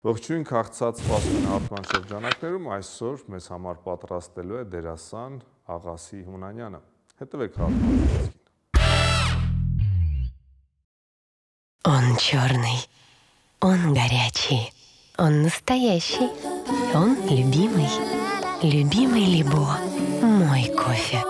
Ողջույն քաղցած սպասում հարթման շրջանակներում այսօր մեզ համար պատրաստելու է դերասան Աղասի Հունանյանը։ Հետևեք հարթման խոսքին։ Он черный, он горячий, он настоящий, он любимый, любимый Либо, мой кофе.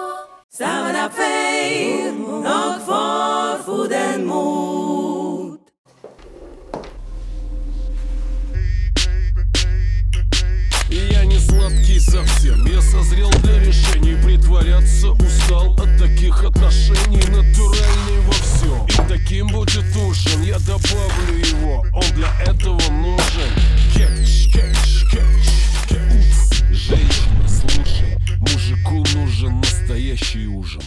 Я не сладкий совсем, я созрел для решений. Притворяться устал от таких отношений. Натуральный во всем, и таким будет ужин. Я добавлю его, он для этого нужен. Кетч, кетч, кетч, кетч. Женщина, слушай, мужику нужен настоящий ужин.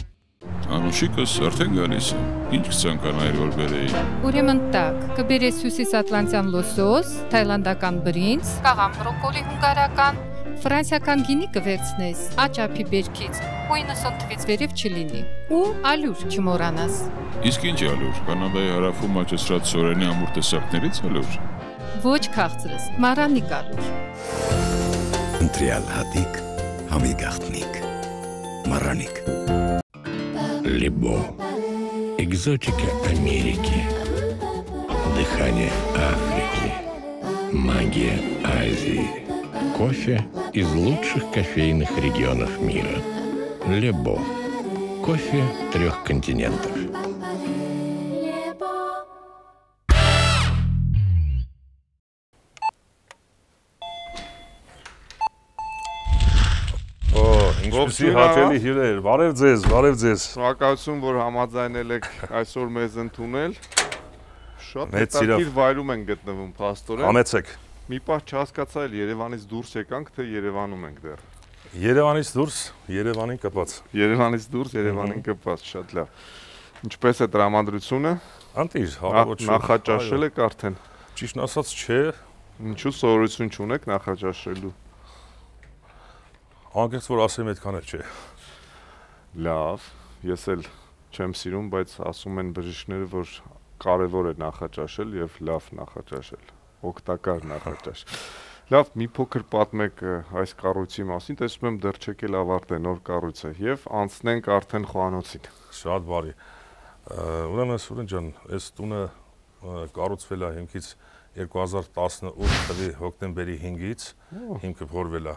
Անուշիկս արդեն գալիս է, ինչ կցանկանայր որ բերեի։ Ուրեմն տակ, կբերես հյուսիս ատլանտյան լոսոս, թայլանդական բրինձ, կաղամ բրոկոլի հունգարական, ֆրանսիական գինի կվերցնես, աճափի բերքից, ու 90 թվից վերև չլինի, ու ալյուր չմոռանաս։ Իսկ ինչ ալյուր, Կանադայի հարավում աճեցրած սորենի ամուր տեսակներից ալյուր։ Ոչ քաղցրես, մարանիկ ալյուր։ Ընտրյալ հատիկ, համի գաղտնիք, մարանիկ։ Либо. Экзотика Америки. Дыхание Африки. Магия Азии. Кофе из лучших кофейных регионов мира. Либо. Кофе 3 континентов. Ինչպեսի հաճելի հյուրեր, բարև ձեզ, բարև ձեզ։ Շնորհակալություն, որ համաձայնել եք այսօր մեզ ընդունել։ Շատ հետաքրքիր վայրում ենք գտնվում, փաստորեն։ Համեցեք։ Մի պահ չհասկացա, Երևանից դուրս եկանք, թե Երևանում ենք դեռ։ Երևանից դուրս, Երևանին կպած։ Երևանից դուրս, Երևանին կպած, շատ լավ։ Ինչպես է տրամադրությունը։ Անտիր, հարավոտ շուտ։ Նախաճաշել եք արդեն։ Ճիշտ ասած, չէ։ Ինչու սովորություն չունեք նախաճաշելու։ Անկեղծ որ ասեմ այդքան էլ չէ։ Լավ, ես էլ չեմ սիրում, բայց ասում են բժիշկները, որ կարևոր է նախաճաշել եւ լավ նախաճաշել, օգտակար նախաճաշ։ Լավ, մի փոքր պատմեք այս կառույցի մասին, տեսնում եմ դեռ չեք էլ ավարտել նոր կառույցը եւ անցնենք արդեն խոհանոցին։ Շատ բարի։ Ուրեմն Սուրեն ջան, այս տունը կառուցվել է հիմքից 2018 թվականի հոկտեմբերի 5-ից, հիմքը փորվել է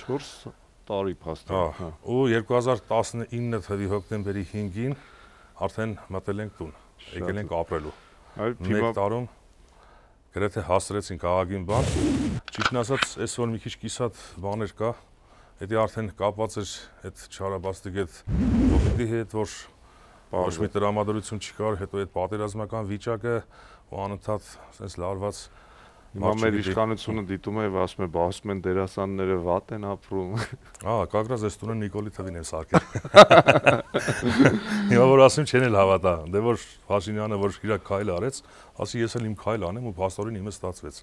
4 տարի փաստորեն։ Ու 2019 թվականի հոկտեմբերի 5-ին արդեն մտել ենք տուն, եկել ենք ապրելու։ Մեկ տարում գրեթե հասցրեցինք աղագին բան։ Ճիշտն ասած, այսօր մի քիչ կիսատ բաներ կա, դա արդեն կապված էր այդ չարաբաստիկ այդ ովիդի հետ, որ ոչ մի տրամադրություն չկար, հետո այդ պատերազմական վիճակը ու անընդհատ sense լարված Հիմա մեր իշխանությունը դիտում է եւ ասում է, բասում են դերասանները վատ են ապրում։ Կակրած այս տունը Նիկոլի թվին են սարքել։ Հիմա որ ասում չեն էլ հավատա, դե որ Փաշինյանը որ իր քայլ արեց, ասի ես էլ իմ քայլ անեմ ու փաստորեն իմը ստացվեց։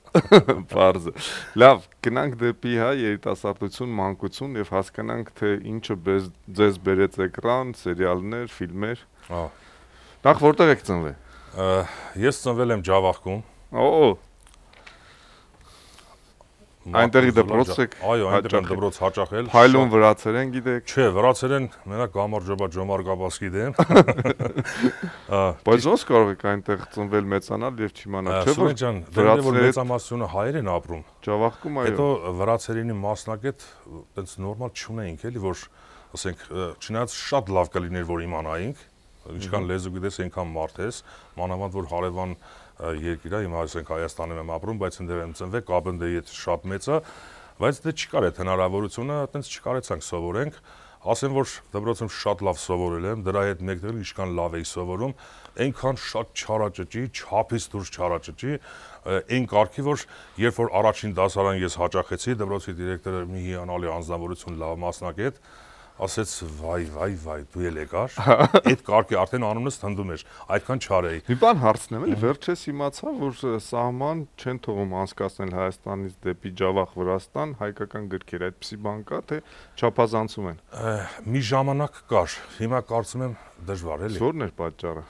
Բարձ։ Լավ, գնանք դեպի երիտասարդություն, մանկություն եւ հասկանանք թե ինչը ձեզ բերեց էկրան, սերիալներ, ֆիլմեր։ Նախ որտեղ եք ծնվել։ Ես ծնվել եմ Ջավախքում։ Այնտեղի դպրոց եք։ Այո, այնտեղ եմ դպրոց հաճախել։ Փայլուն վրացերեն գիտեք։ Չէ, վրացերեն մենակ գամարջոբա Ջոմար Գաբասկի դեմ։ Բայց ոնց կարող եք այնտեղ ծնվել մեծանալ եւ չիմանալ, չէ՞ որ վրացերեն մեծամասնությունը հայեր են ապրում։ Ջավախքում այո։ Հետո վրացերենի մասնակետ այտենց նորմալ չունեինք էլի, որ ասենք, չնայած շատ լավ կլիներ որ իմանայինք, ինչքան լեզու գիտես, այնքան մարդ ես, մանավանդ որ հարևան երկիր է, հիմա ասենք Հայաստանում եմ ապրում, բայց ընդդեմ եմ ծնվել, կապնդեի հետ շատ մեծ է, բայց դե չկար այդ հնարավորությունը, այտենց չկարեցանք սովորենք, ասեմ որ դպրոցում շատ լավ սովորել եմ, դրա հետ մեկտեղ ինչքան լավ էի սովորում, այնքան շատ չարաճճի, չափից դուրս չարաճճի, այն կարգի որ երբ որ առաջին դասարան ես հաճախեցի, դպրոցի դիրեկտորը մի հիանալի անձնավորություն, լավ մասնակետ, ասեց վայ, դու էլ եկար, այդ կարգի արդեն անունս թնդում էր, այդքան չար էի։ Մի բան հարցնեմ, էլի վերջես իմացա, որ սահման չեն թողում անցկացնել Հայաստանից դեպի Ջավախ Վրաստան հայկական գրքեր, այդպիսի բան կա, թե չափազանցում են։ Մի ժամանակ կար, հիմա կարծում եմ դժվար էլի։ Ո՞րն էր պատճառը։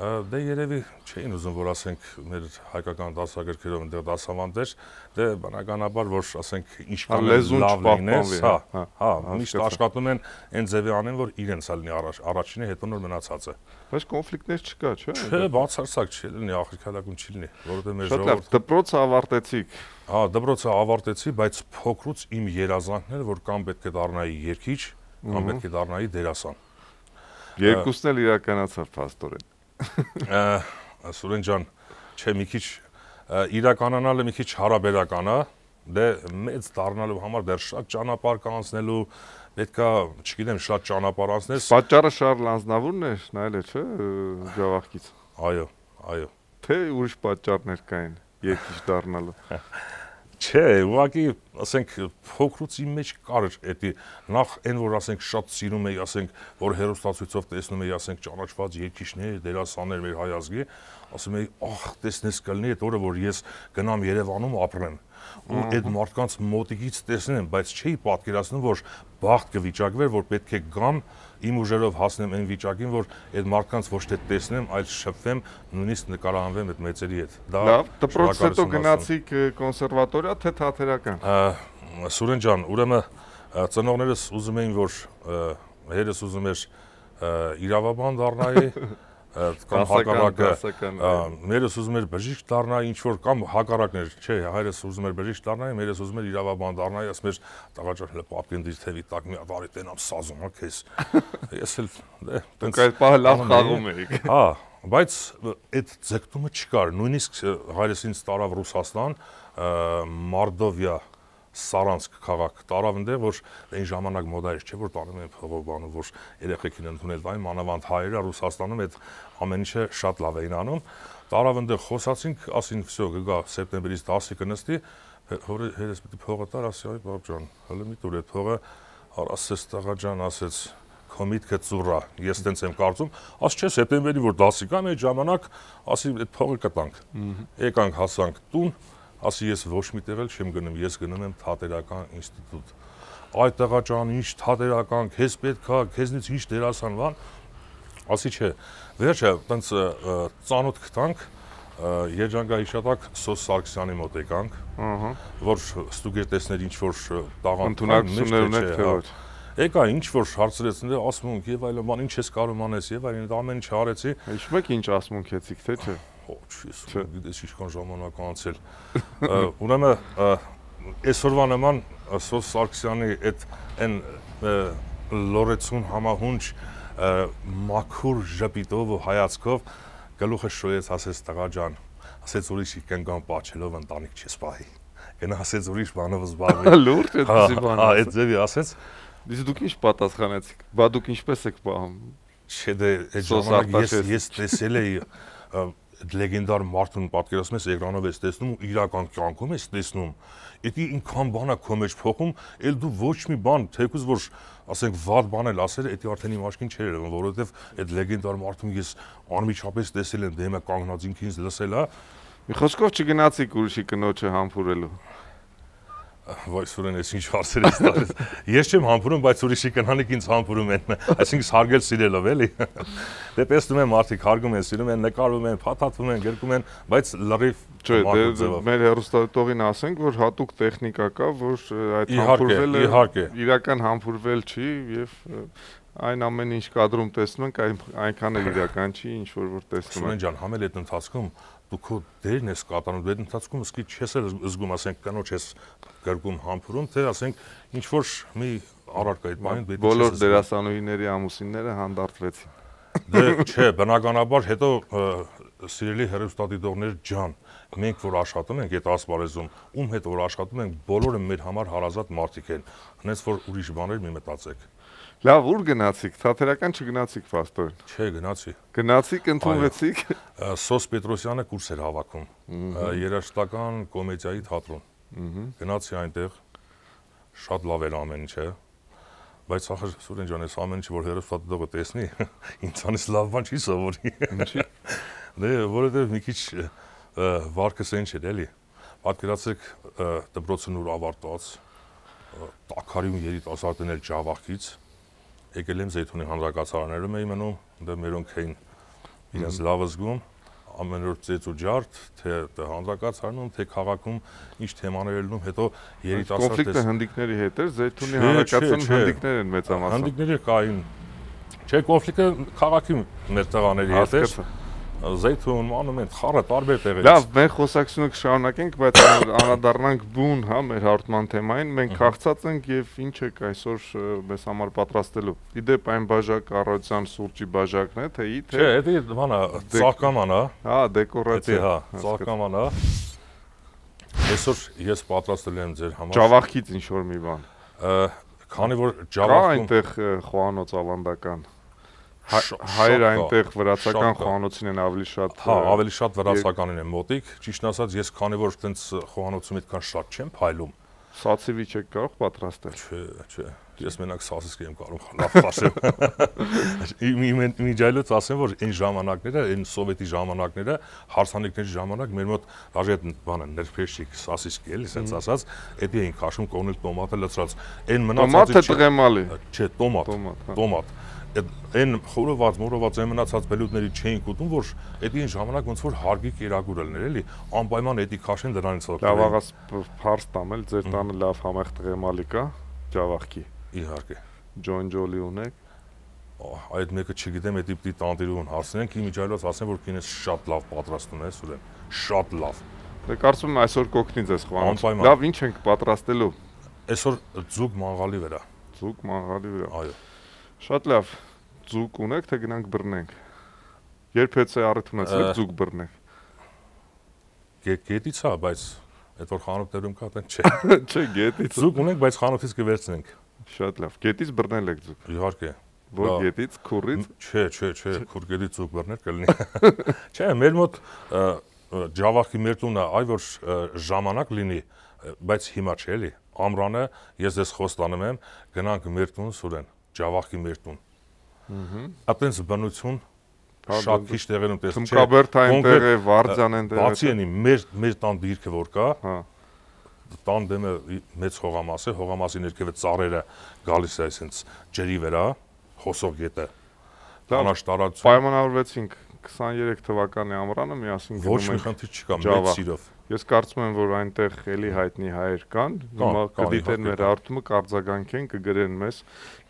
Դե երևի չէին ուզում, որ ասենք մեր հայկական դասագրքերով այնտեղ դասավանդեր, դե բնականաբար, որ ասենք ինչքան լավ լինես, միշտ աշխատում են այն ձևի անեն, որ իրենց լինի առաջինը, հետո նոր մնացածը։ Բայց կոնֆլիկտներ չկա, չէ՞։ Չէ, բացարձակ չի լինի, ախրքալակում չի լինի, որովհետեւ մեր ժողովուրդը դպրոցը ավարտեցիք։ Դպրոցը ավարտեցի, բայց փոքրուց իմ երազանքն էր, որ կամ պետք է դառնայի երգիչ, կամ պետք է դառնայի դերասան։ Երկուսն էլ իրականացավ փաստորեն։ Սուրեն ջան, չէ, մի քիչ իրականանալը մի քիչ հարաբերական է, դե մեծ դառնալու համար դեռ շատ ճանապարհ կա անցնելու, պետքա, չգիտեմ, շատ ճանապարհ անցնես։ Պատճառը Շարլ Անձնավուրն է, նայել է, չէ, Ջավախքից։ Այո։ Թե ուրիշ պատճառներ կային երկիչ դառնալու։ Չէ, ուղղակի, ասենք, փոքրուց իմ մեջ կար էդի, նախ այն, որ ասենք շատ սիրում էի, ասենք, որ հերոստացույցով տեսնում էի, ասենք, ճանաչված երգիչներ, դերասաններ մեր հայ ազգի, ասում էի, ախ, տեսնես կլինի այդ օրը, որ ես գնամ Երևանում ապրեմ, ու այդ մարդկանց մոտիկից տեսնեմ, բայց չէի պատկերացնում, որ բախտ կվիճակվեր, որ պետք է գամ իմ ուժերով հասնեմ այն վիճակին, որ այդ մարդկանց ոչ թե տեսնեմ, այլ շփվեմ, նույնիսկ նկարահանվեմ այդ մեծերի հետ։ Լավ, դպրոցից հետո գնացիք կոնսերվատորիա, թե թատերական։ Սուրեն ջան, ուրեմն ծնողներս ուզում էին, որ հայրս ուզում էր իրավաբան դառնայի, կամ հակառակը, մերս ուզում էր բժիշկ դառնայի, ինչ որ կամ հակառակն էր, չէ, հայրս ուզում էր բժիշկ դառնայի, մերս ուզում էր իրավաբան դառնայի, ասում էր տղա ջան, հələ պապկին դիր թևի տակ մի հատ արի տենամ սազում, հա քեզ։ Ես էլ դե դուք այդ պահը լավ խաղում էիք։ Բայց այդ ձգտումը չկար, նույնիսկ հայրս ինձ տարավ Ռուսաստան, Մարդովիա Սարանսկ քաղաք տարավ այնտեղ, որ այն ժամանակ մոդա էր, չէ, որ տանում են փողով բանում, որ երեխեքին ընդունել տային, մանավանդ հայերը Ռուսաստանում այդ ամեն ինչը շատ լավ էին անում։ Տարավ այնտեղ խոսացինք, ասին, վсё, գա սեպտեմբերից 10-ի կնստի, հորս պիտի փողը տար, ասի, այ բաբ ջան, հələ մի տուր այդ փողը, ասես տղա ջան, ասեց, քո միտքը ծուռա, ես տենց եմ կարծում, աս չէ, սեպտեմբերի որ 10-ի կամ այդ ժամանակ, ասի, այդ փողը կտանք։ Եկանք հասանք տուն, ասի ես ոչ մի տեղ էլ չեմ գնում, ես գնում եմ թատերական ինստիտուտ։ Այ տղա ջան, ինչ թատերական, քեզ պետք է, քեզնից ինչ դերասան բան։ Ասի չէ, վերջը տենց ծանոթ գտանք, երջանկահիշատակ Սոս Սարգսյանի մոտ եկանք, որ ստուգեր տեսներ ինչ որ ընդունակություններ ունեք թե ոչ։ Եկա ինչ որ հարցրեցին, ասում ենք եւ այլն, բան ինչ ես կարող անես եւ այլն, ամեն ինչ արեցի։ Հիշում եք ինչ ասմունքեցիք, թե չէ։ Գիտես ինչքան ժամանակ անցել։ Ուրեմն այսօրվա նման Սոս Սարգսյանի այն լորեցուն համահունչ մաքուր ժպիտով ու հայացքով գլուխը շոյեց, ասեց տղա ջան, ասեց ուրիշ կենկան պաչելով ընտանիք չես պահի։ Գնա ասեց ուրիշ բանով զբաղվի։ Լուրջ այդպեսի բան։ Այդ ձևի ասեց։ Իսկ դուք ինչ պատասխանեցիք։ Բա դուք ինչպես եք պահում։ Չէ, դե այդ ժամանակ ես տեսել էի լեգենդար մարդուն պատկերացնում ես էկրանով ես տեսնում ու իրական կյանքում ես տեսնում, դա ինքան բան է քո մեջ փոխում, էլ դու ոչ մի բան, թեկուզ որ ասենք վատ բան էլ ասել, դա արդեն իմ աչքին չէր երևում, որովհետև այդ լեգենդար մարդուն ես անմիջապես տեսել եմ, դեմը կանգնած ինքինս լսել է։ Մի խոսքով չգնացիք ուրիշի կնոջը համբուրելու։ Վայ Սուրեն, ես ինչ հարցեր ես տալիս։ Ես չեմ համբուրում, բայց ուրիշի կնանիք ինձ համբուրում են, այսինքն հարգել սիրելով էլի։ Դե տեսնում եմ մարդիկ հարգում են, սիրում են, նկարվում են, փաթաթվում են, գրկում են, բայց լրիվ չէ, մեր հեռուստատողին ասենք, որ հատուկ տեխնիկա կա, որ այդ համբուրվելը իրական համբուրվել չի եւ այն ամեն ինչ կադրում տեսնում ենք, այնքան էլ իրական չի, ինչ որ տեսնում ենք։ Սուրեն ջան, համել այդ ընթացքում դու քո դերն ես կատարում, դու այդ ընթացքում սկի չես էլ զգում, ասենք կնոջ ես գրկում համբուրում, թե ասենք ինչ որ մի առարկայի բանին դու բոլոր դերասանուհիների ամուսինները հանդարտվեցին։ Դե չէ, բնականաբար հետո սիրելի հեռուստադիտողներ ջան, մենք որ աշխատում ենք այդ ասպարեզում, ում հետ որ աշխատում ենք, բոլորը մեր համար հարազատ մարդիկ են, հենց որ ուրիշ բաներ մի մտածեք։ Լավ, ուր գնացիք, թատերական չգնացիք փաստորեն։ Չէ, գնացի։ Գնացիք, ընդունվեցիք։ Սոս Պետրոսյանը կուրս էր հավաքում, երաժշտական կոմեդիայի թատրոն։ Գնացի այնտեղ, շատ լավ էր ամեն ինչը, բայց ախր Սուրեն ջան, այս ամեն ինչը որ հեռուստադիտողը տեսնի, ինձանից լավ բան չի սովորի։ Ինչի՞։ Դե որովհետև մի քիչ վարկս այն չէր էլի։ Պատկերացրեք դպրոցն ուր ավարտված, տաքարյուն երիտասարդն էլ Ջավախքից, եկել եմ Զեյթունի հանրակացարաններում էի մնում, դե մերոնք էին իրենց լավը զգում, ամեն օր ծեծ ու ջարդ, թե հանրակացարանում, թե քաղաքում ինչ թեմաներ ելնում, հետո երիտասարդ կոնֆլիկտը հնդիկների հետ էր, Զեյթունի հանրակացարանում հնդիկներ են մեծամասամբ։ Հնդիկների կային։ Չէ, կոնֆլիկտը քաղաքի մեր տղաների հետ էր։ Զեյթուն, մանումենտ, խառը տարբեր տեղերից։ Լավ, մենք խոսակցությունը կշարունակենք, բայց անդրադառնանք բուն, հա, մեր հարթման թեմային, մենք քաղցած ենք եւ ինչ եք այսօր մեզ համար պատրաստելու։ Իդեպ այն բաժակ առողջության սուրճի բաժակն է, թե ի թե։ Չէ, դա բանա, ծաղկաման է։ Հա, դեկորացիա։ Հա, ծաղկաման է։ Այսօր ես պատրաստել եմ ձեր համար։ Ջավախից ինչ որ մի բան։ Քանի որ Կա ջավախում այնտեղ խոհանոց ավանդական։ Հայեր այնտեղ վրացական խոհանոցին են ավելի շատ։ Հա, ավելի շատ վրացականին են մոտիկ։ Ճիշտ ասած, ես քանի որ այդպես խոհանոցում այդքան շատ չեմ փայլում։ Սացիվի չեք կարող պատրաստել։ Չէ։ Ես մենակ սասիսկ եմ կարող լավ ասեմ։ Միջայլոց ասեմ, որ այն ժամանակները, այն սովետի ժամանակները, հարսանիքների ժամանակ մեր մոտ դաժե այդ բանը ներփեշիկ սասիսկ էլի, ասենց ասած, դա էին քաշում կողնել տոմատը լցրած։ Այն մնացածը տոմատը տղեմալի։ Չէ, տոմատ։ Այն խորոված, մորոված այն մնացած բելուտների չէին ուտում, որ այդ ժամանակ ոնց որ հարգի կերակուր ելներ էլի, անպայման դա քաշեն դրանից օգտվել։ Լավ աղաս փարս տամել, ձեր տանը լավ համեղ տղեմալի կա, ջավախքի։ Իհարկե։ Ջոնջոլի ունեք։ Այդ մեկը չգիտեմ, դա պիտի տանտիրուն հասնենք, իմիջայլոց ասեմ, որ քինես շատ լավ պատրաստում ես, ուրեմն, շատ լավ։ Դե կարծում եմ այսօր կօգնի ձեզ խոհանոց։ Անպայման։ Լավ, ինչ ենք պատրաստելու։ Այսօր ձուկ մանգալի վրա։ Ձուկ մանգալի վրա։ Այո։ Շատ լավ։ Ձուկ ունեք, թե գնանք բռնենք։ Երբ հեծե առիթ ունեցեք ձուկ բռնենք։ Գետից է, բայց այդ որ խանութներում կա, այդեն չէ։ Չէ, գետից։ Ձուկ ունենք, բայց խանութից կվերցնենք։ Շատ լավ։ Գետից բռնել եք ձուկ։ Իհարկե։ Որ գետից, քուրից։ Չէ, քուրգետից ձուկ բռնել կլինի։ Չէ, մեր մոտ ջավախի մեր տունը, այ որ ժամանակ լինի, բայց հիմա չէ էլի։ Ամռանը ես դες խոստանում եմ, գնանք մեր տուն Սուրեն, ջավախի մեր տուն։ Այդպես բնություն շատ քիչ տեղերում տեսնում։ Թմկաբերդ այնտեղ է, Վարձան այնտեղ է։ Բացի էնի մեր տան դիրքը որ կա, հա։ Տան դեմը մեծ հողամաս է, հողամասի ներքևը ծառերը գալիս է այսպես ջրի վրա, հոսող գետը։ Տանաշ տարածություն։ Պայմանավորվեցինք 23 թվականի ամռանը միասին Ոչ մի խնդիր չկա, մեծ սիրով։ Ես կարծում եմ, որ այնտեղ էլի հայտնի հայեր կան, հիմա կդիտեն մեր հարթումը, կարձագանքեն, կգրեն մեզ,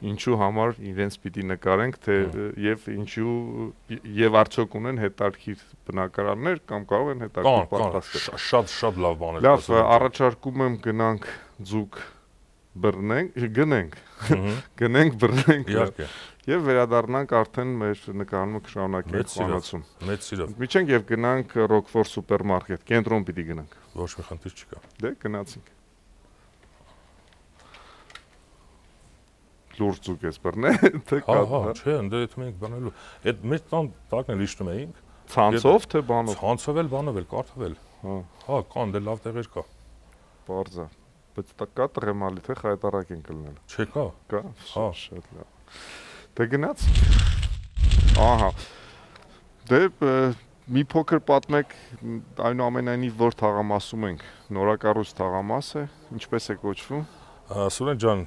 ինչու համար իրենց պիտի նկարենք, թե եւ ինչու եւ արդյոք ունեն հետարքիր բնակարաններ կամ կարող են հետարքիր պատրաստել։ Շատ լավ բան է։ Լավ, առաջարկում եմ գնանք ձուկ գնենք բռնենք իհարկե եւ վերադառնանք արդեն մեր նկարումը կշարունակենք խոհանոցում։ Մեծ սիրով։ Միջենք եւ գնանք Rockford սուպերմարկետ, կենտրոն պիտի գնանք։ Ոչ մի խնդիր չկա։ Դե գնացինք։ Լուրջ ձուկ ես բռնել, թե կա։ Հա, չէ, ընդ այդ մենք բանալու։ Այդ մեր տան տակն էլ իշտում էինք։ Ցանցով թե բանով։ Ցանցով էլ բանով էլ կարդավել։ Հա, կան դե լավ տեղեր կա։ Բարձա։ Բայց դա կա տղեմալի թե խայտարակ են կլնել։ Չէ կա։ Կա։ Հա, շատ լավ։ Դե գնաց։ Ահա։ Դե մի փոքր պատմեք այնուամենայնիվ որ թաղամասում ենք։ Նորակառույց թաղամաս է, ինչպես է կոչվում։ Սուրեն ջան,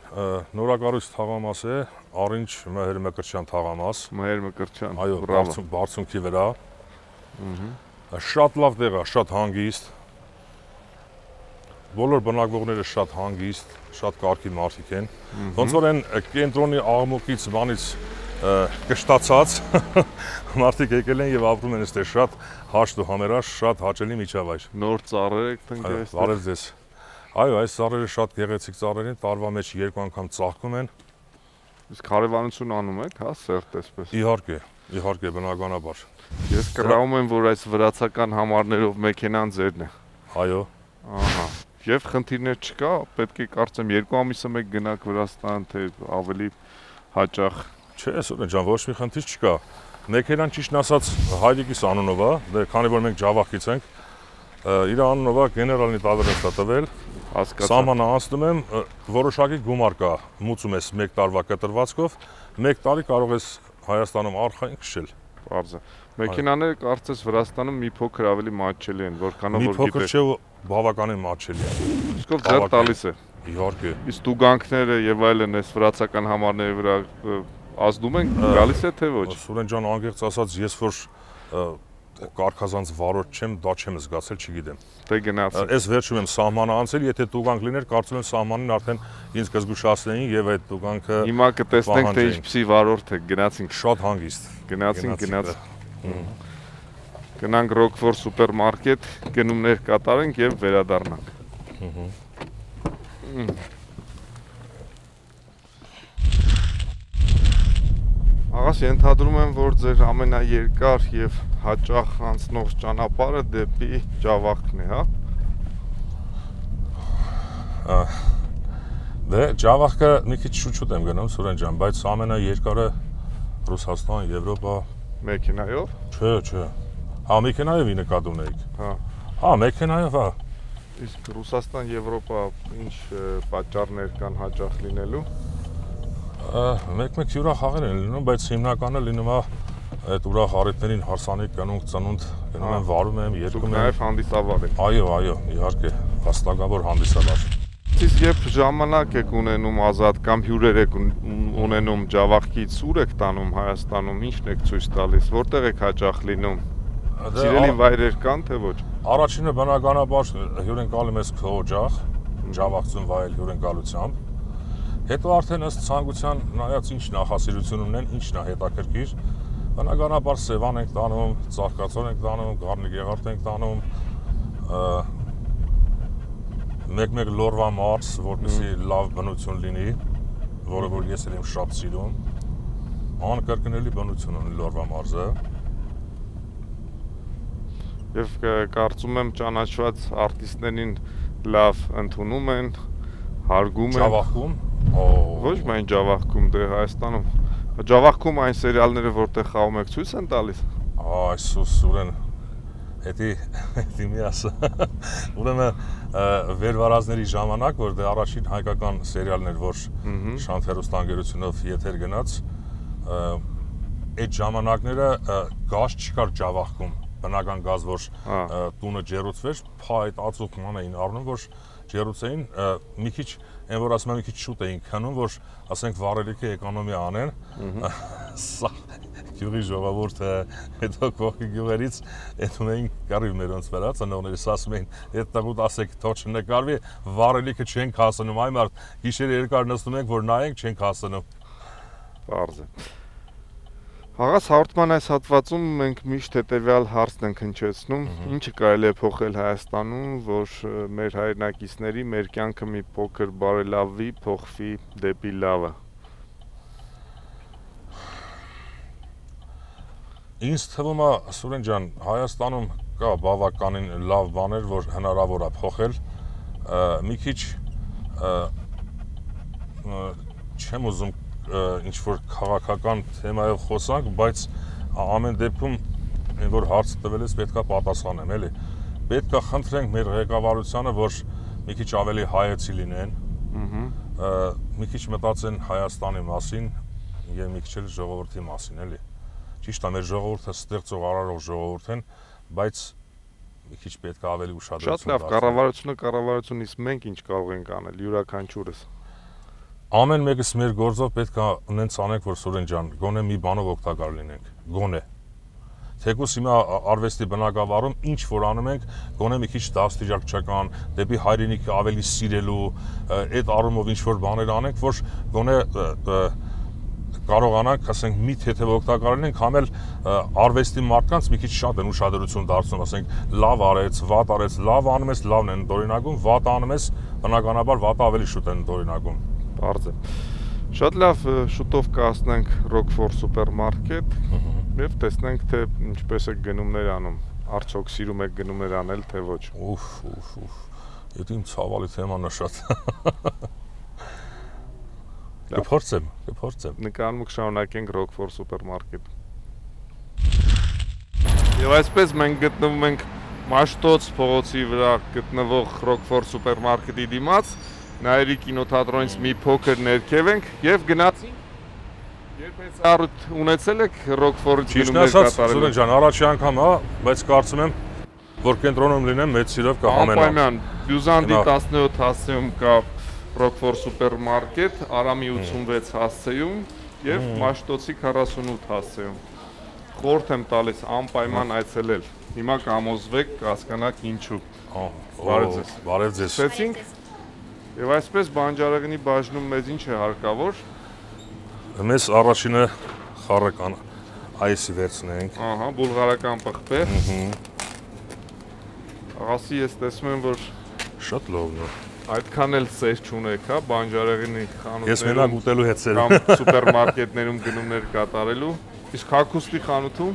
նորակառույց թաղամաս է, Առինջ Մհեր Մկրտչյան թաղամաս։ Մհեր Մկրտչյան։ Այո, բարձունքի վրա։ Շատ լավ տեղ է, շատ հանգիստ։ Բոլոր բնակվողները շատ հանգիստ, շատ կարգի մարդիկ են։ Ոնց որ այն կենտրոնի աղմուկից բանից կշտացած մարդիկ եկել են եւ ապրում են այստեղ շատ հաշտ ու համերաշխ, շատ հաճելի միջավայր։ Նոր ծառեր եք տնկել այստեղ։ Բարև ձեզ։ Այո, այս ծառերը շատ գեղեցիկ ծառեր են, տարվա մեջ 2 անգամ ծաղկում են։ Իսկ հարևանություն անում եք, հա, սերտ էսպես։ Իհարկե, բնականաբար։ Ես կռավում եմ, որ այս վրացական համարներով մեքենան ձերն է։ Այո։ Ահա։ Եվ խնդիրներ չկա, պետք է կարծեմ 2 ամիսը մեկ գնաք Վրաստան, թե ավելի հաճախ։ Չէ, Սուրեն ջան, ոչ մի խնդիր չկա։ Մեքենան ճիշտ ասած Հայդիկիս անունով է, դե քանի որ մենք Ջավախից ենք, իր անունով է գեներալնի տավերնստա տվել։ Հասկացա։ Սահմանը անցնում եմ, որոշակի գումար կա, մուծում ես 1 տարվա կտրվածքով, 1 տարի կարող ես Հայաստանում արխային քշել։ Բարձր։ Մեքենաները կարծես Վրաստանում մի փոքր ավելի մատչելի են, որքանով որ գիտես։ Մի փոքր չէ, բավականին մատչելի է։ Իսկ ձեր տալիս է։ Իհարկե։ Իսկ տուգանքները եւ այլն այս վրացական համարների վրա ազդում են, գալիս է թե ոչ։ Սուրեն ջան, անկեղծ ասած, ես որ կարգազանց վարորդ չեմ, դա չեմ զգացել, չգիտեմ։ Դե գնացինք։ Այս վերջում եմ սահմանը անցել, եթե տուգանք լիներ, կարծում եմ սահմանին արդեն ինձ կզգուշացնեին եւ այդ տուգանքը Հիմա կտեսնենք թե ինչպեսի վարորդ է, գնացինք։ Շատ հանգիստ։ Գնացինք։ Գնանք Rockford սուպերմարկետ, գնումներ կատարենք եւ վերադառնանք։ Աղաս, ենթադրում եմ, որ ձեր ամենաերկար եւ հաճախ անցնող ճանապարհը դեպի Ջավախքն է, հա։ Դե Ջավախքը մի քիչ շուտ եմ գնում, Սուրեն ջան, բայց ամենաերկարը Ռուսաստան, Եվրոպա մեքենայով։ Չէ։ Հա, մեքենայով նկատում ունեիք։ Հա, մեքենայով, հա։ Իսկ Ռուսաստան, Եվրոպա ինչ պատճառներ կան հաճախ լինելու։ Մեկ-մեկ յուրախաղեր են լինում, բայց հիմնականը լինում է այդ ուրախ առիթներին հարսանիք կնունք ծնունդ գնում եմ վարում եմ, երկում եմ։ Նաև հանդիսավար եք։ Այո, իհարկե, հաստակավոր հանդիսավար։ Իսկ երբ ժամանակ եք ունենում ազատ կամ հյուրեր եք ունենում Ջավախքից, ուր եք տանում Հայաստանում, ինչն եք ցույց տալիս, որտեղ եք հաճախ լինում։ Սիրելի վայրեր կան թե ոչ։ Առաջինը բնականաբար հյուրընկալում ես քոջախ, Ջավախցուն վայել հյուրընկալությամբ։ Հետո արդեն ըստ ցանկության նայած ինչ նախասիրություն ունեն, ինչն է հետաքրքիր, բնականաբար Սևան ենք տանում, Ծաղկացոր ենք տանում, Գառնիկ Եղարդ ենք տանում, մեկ-մեկ Լորվա մարզ, որպեսզի լավ բնություն լինի, որը որ ես եմ շատ սիրում, անկրկնելի բնություն ունի Լորվա մարզը։ Եվ կարծում եմ ճանաչված արտիստներին լավ ընդունում են, հարգում են։ Ջավախքում Ոչ միայն Ջավախքում, դե Հայաստանում։ Ջավախքում այն սերիալները, որտեղ խաղում եք, ցույց են տալիս։ Այսուս ուրեն, հետի մի ասա։ Ուրեմն վերվարազների ժամանակ, որ դե առաջին հայկական սերիալն էր, որ Շանթ հեռուստաընկերությունով եթեր գնաց, այդ ժամանակները գազ չկար Ջավախքում, բնական գազ, որ տունը ջեռուցվեր, փայտ ածուխման էին առնում, որ ջեռուցեին մի քիչ Այն որ ասում եմ մի քիչ շուտ էին քանում, որ ասենք վառելիքը էկոնոմիա անեն, սա գյուղի ժողովուրդը, հետո կողքի գյուղերից այդ ունեին կարիվ մերոնց վրա, ծնողներս ասում էին, այդ տղուտ ասեք թող չնկարվի, վառելիքը չենք հասնում, այ մարդ գիշերը երկար նստում ենք, որ նայենք չենք հասնում։ Պարզ է։ Աղաս հաղորդման այս հատվածում մենք միշտ հետևյալ հարցն ենք հնչեցնում, ինչը կարելի է փոխել Հայաստանում, որ մեր հայրենակիցների, մեր կյանքը մի փոքր բարելավվի, փոխվի դեպի լավը։ Ինձ թվում է, Սուրեն ջան, Հայաստանում կա բավականին լավ բաներ, որ հնարավոր է փոխել, մի քիչ չեմ ուզում ինչ-որ քաղաքական թեմայով խոսանք, բայց ամեն դեպքում որ հարց տվել ես պետք է պատասխանեմ, էլի։ Պետք է խնդրենք մեր ղեկավարությանը, որ մի քիչ ավելի հայեցի լինեն, մի քիչ մտածեն Հայաստանի մասին եւ մի քիչ էլ ժողովրդի մասին, էլի։ Ճիշտ է, մեր ժողովուրդը ստեղծող արարող ժողովուրդ են, բայց մի քիչ պետք է ավելի ուշադրություն Շատ լավ, կառավարությունը, իսկ մենք ինչ կարող ենք անել, յուրաքանչյուրս։ Ամեն մեկս մեր գործով պետք է նենց անենք, որ Սուրեն ջան, գոնե մի բանով օգտակար լինենք, գոնե։ Թեկուզ հիմա արվեստի բնակավարում ինչ որ անում ենք, գոնե մի քիչ դաստիճակչական, դեպի հայրենիքը ավելի սիրելու, այդ առումով ինչ որ բաներ անենք, որ գոնե կարողանանք, ասենք, մի թեթև օգտակար լինենք, համ էլ արվեստի մարդկանց մի քիչ շատ են ուշադրություն դարձնում, ասենք, լավ արեց, վատ արեց, լավ անում ես, լավն են դորինակում, վատ անում ես, բնականաբար վատը ավելի շուտ են դորինակում։ Պարզ է։ Շատ լավ, շուտով կհասնենք Rockford սուպերմարկետ եւ տեսնենք թե ինչպես է գնումներ անում։ Արդյոք սիրում եք գնումներ անել, թե ոչ։ Ուֆ։ Դա իմ ցավալի թեման է շատ։ Կփորձեմ։ Նկարում կշարունակենք Rockford սուպերմարկետ։ Եվ այսպես մենք գտնվում ենք Մաշտոց փողոցի վրա գտնվող Rockford սուպերմարկետի դիմաց, Նայերի կինոթատրոնից մի փոքր ներքև ենք եւ գնացինք։ Երբ այս առիթ ունեցել եք Rockford-ից գնումներ կատարել։ Սուրեն ջան, առաջի անգամ հա, բայց կարծում եմ, որ կենտրոնում լինեմ, մեծ սիրով կհամենամ։ Անպայման, Բյուզանդի 17 հասցեում կա Rockford սուպերմարկետ, Արամի 86 հասցեում եւ Մաշտոցի 48 հասցեում։ խորհուրդ եմ տալիս անպայման այցելել։ Հիմա կամոզվեք, կհասկանաք ինչու։ Բարև ձեզ։ Սկսեցինք։ Եվ այսպես բանջարեղենի բաժնում մեզ ինչ է հարկավոր։ Մեզ առաջինը խառը այսի վերցնենք։ Ահա, բուլղարական պղպեղ։ Աղասի ես տեսնում եմ, որ շատ լավն է։ Այդքան էլ սեր չունեք, հա, բանջարեղենի խանութներում։ Ես մենակ ուտելու հետ սեր կամ սուպերմարկետներում գնումներ կատարելու։ Իսկ հագուստի խանութում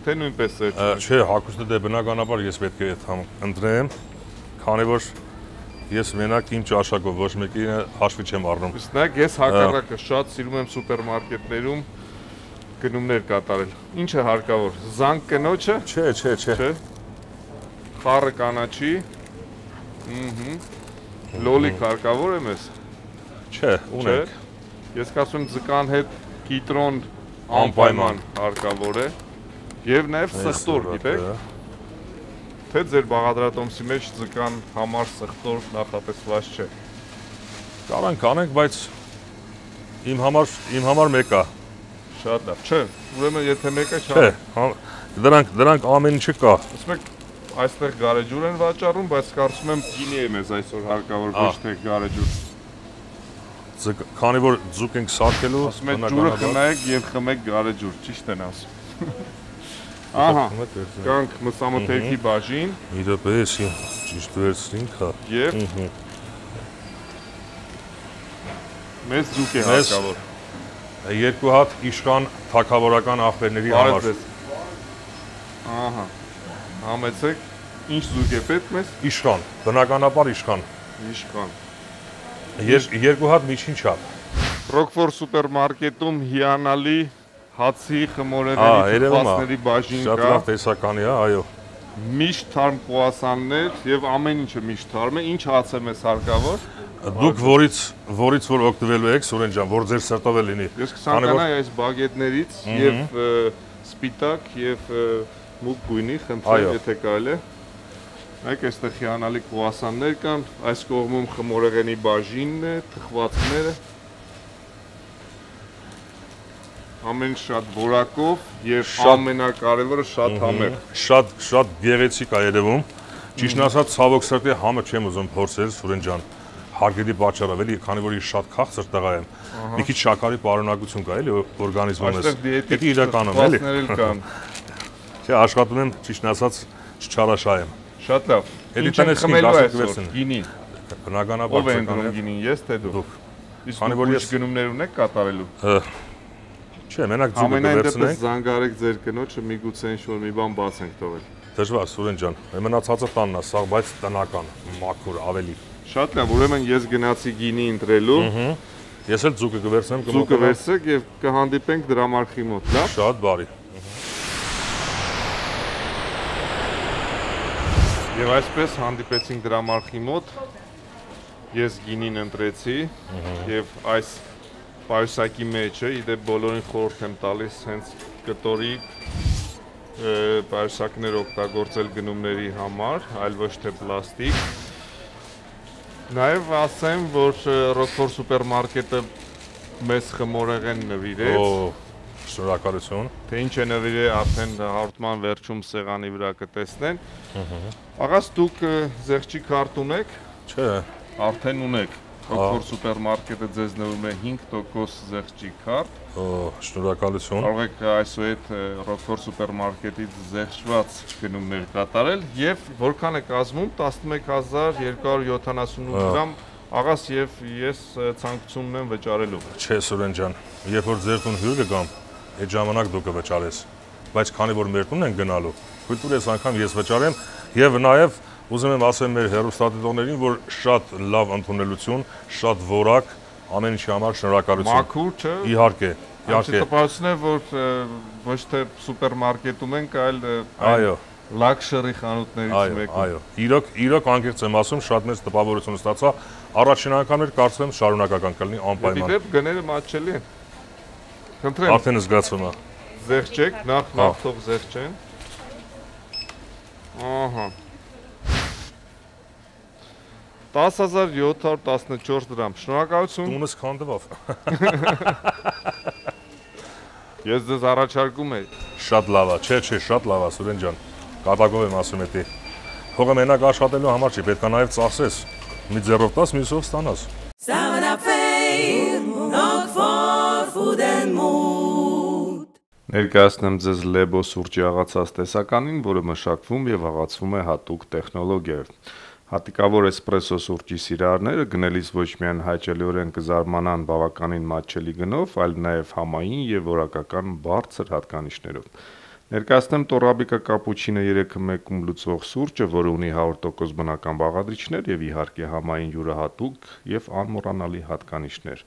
թե նույնպես սեր չունեք։ Չէ, հագուստը դե բնականաբար ես պետք է ընտրեմ, քանի որ ես մենակ իմ ճաշակով ոչ մեկին հաշվի չեմ առնում։ Իսկ նայեք, ես հակառակը շատ սիրում եմ սուպերմարկետներում գնումներ կատարել։ Ինչ է հարկավոր։ Զանգ կնոջը։ Չէ։ Խառը կանաչի։ Լոլիկ հարկավոր է մեզ։ Չէ, ունենք։ Ես կասում եմ ձկան հետ կիտրոն անպայման հարկավոր է։ Եվ նաև սխտոր, գիտեք։ Թե ձեր բաղադրատոմսի մեջ ձկան համար սխտոր նախատեսված չէ։ Կարանք անենք, բայց իմ համար մեկ է։ Շատ լավ։ Չէ, ուրեմն եթե մեկը չէ։ Դրանք ամեն ինչը կա։ Ասում եք այստեղ գարեջուր են վաճառում, բայց կարծում եմ գինի է մեզ այսօր հարկավոր ոչ թե գարեջուր։ Քանի որ ձուկ ենք սարքելու, ասում եք ջուրը խնայեք եւ խմեք գարեջուր, ճիշտ են ասում։ Ահա, կանք մսամթերքի բաժին։ Իրապես ճիշտ վերցրինք, հա։ Եվ մեզ ձուկ է հարկավոր։ Երկու հատ իշխան թագավորական աղբերների համար։ Ահա։ Համեցեք, ինչ զույգ է պետք մեզ։ Իշխան, բնականաբար իշխան։ Երկու հատ միջին չափ։ Ռոկֆոր սուպերմարկետում հիանալի հացի խմորեղենի թխվածների բաժին կա։ Շատ լավ տեսականի է, այո։ Միշտ թարմ կուասաններ եւ ամեն ինչը միշտ թարմ է։ Ինչ հաց է մեզ հարկավոր։ Դուք որից որ օգտվելու եք, Սուրեն ջան, որ ձեր սրտով է լինի։ Ես կցանկանայի այս բագետներից եւ սպիտակ եւ մուգ գույնի, խնդրեմ, եթե կարելի է։ Նայեք, այստեղ հիանալի կուասաններ կան, այս կողմում խմորեղենի բաժինն է, թխվածքները։ Ամեն շատ որակով եւ ամենակարևորը շատ համեղ։ Շատ գեղեցիկ է երևում։ Ճիշտն ասած, ցավոք սրտի համը չեմ ուզում փորձել, Սուրեն ջան։ Հարգելի պատճառով էլի, քանի որ ես շատ քաղցր տղա եմ։ Մի քիչ շաքարի պարունակություն կա էլի օրգանիզմում ես։ Այստեղ դիետիկ իրականում էլի։ կան։ Չէ, աշխատում եմ, ճիշտն ասած, չչարաշահեմ։ Շատ լավ։ Էլի տնես խմելու այսօր գինի։ Բնականաբար ով է ընկնում գինին, ես թե դուք։ Իսկ դուք ինչ գնումներ ունեք կատարելու։ Չէ, մենակ ձուկը կվերցնենք։ Ամենայն դեպս զանգարեք ձեր կնոջը, միգուցե ինչ-որ մի բան բաց ենք թողել։ Դժվար, Սուրեն ջան, մնացածը տանն է, սա բայց տնական, մաքուր, ավելի։ Շատ լավ, ուրեմն ես գնացի գինի ընտրելու։ Ես էլ ձուկը կվերցնեմ, ձուկը վերցրեք եւ կհանդիպենք դրամարկղի մոտ, լավ։ Շատ բարի։ Եվ այսպես հանդիպեցինք դրամարկղի մոտ։ Ես գինին ընտրեցի եւ այս պայուսակի մեջը, իդեպ բոլորին խորհուրդ եմ տալիս հենց կտորի պայուսակներ օգտագործել գնումների համար, այլ ոչ թե պլաստիկ։ Նաև ասեմ, որ Ռոկֆոր սուպերմարկետը մեզ խմորեղեն նվիրեց։ Շնորհակալություն։ Թե ինչ է նվիրել, արդեն հաղորդման վերջում սեղանի վրա կտեսնեն։ Աղաս դուք զեղչի քարտ ունեք։ Չէ։ Արդեն ունեք։ Ռոկֆոր սուպերմարկետը ձեզ նվիրում է 5% զեղչի քարտ։ Շնորհակալություն։ Կարող եք այսուհետ Ռոկֆոր սուպերմարկետից զեղչված գնումներ կատարել եւ որքան է կազմում 11278 դրամ աղաս եւ ես ցանկություն ունեմ վճարելու։ Չէ, Սուրեն ջան, երբ որ ձեր տուն հյուր կգամ, այդ ժամանակ դու կվճարես, բայց քանի որ մեր տունն են գնալու, թույլ տուր անգամ ես վճարեմ եւ նաեւ ուզում եմ ասեմ մեր հեռուստադիտողներին, որ շատ լավ ընդունելություն, շատ որակ, ամեն ինչի համար շնորհակալություն։ Մաքուր չէ։ Իհարկե, իհարկե։ Տպավորություն է, որ ոչ թե սուպերմարկետում ենք, այլ այո, լաքշերի խանութներից մեկում։ Այո, իրոք անկեղծ եմ ասում, շատ մեծ տպավորություն ստացա։ Առաջին անգամ էր կարծում եմ շարունակական կլինի անպայման։ Դեպի գները մատչելի են։ Խնդրեմ։ Արդեն զգացվում է։ Զեղչեք, նախ թող զեղչեն։ Ահա։ 10714 դրամ։ Շնորհակալություն։ Տունս քանդվավ։ Ես ձեզ առաջարկում եի։ Շատ լավ է, չէ, շատ լավ է, Սուրեն ջան։ Կատակով եմ ասում էդի։ Փողը մենակ աշխատելու համար չի, պետք է նաև ծախսես։ Մի ձեռով տաս, մյուսով ստանաս։ Ներկայացնեմ ձեզ Lebo սուրճի աղացած տեսականին, որը մշակվում եւ աղացվում է հատուկ տեխնոլոգիայով։ Հատիկավոր էսպրեսո սուրճի սիրահարները գնելիս ոչ միայն հաճելիորեն կզարմանան բավականին մատչելի գնով, այլ նաև համային եւ որակական բարձր հատկանիշներով։ Ներկայացնեմ Torabika Cappuccino 3-1 լուծվող սուրճը, որը ունի 100% բնական բաղադրիչներ եւ իհարկե համային յուրահատուկ եւ անմոռանալի հատկանիշներ։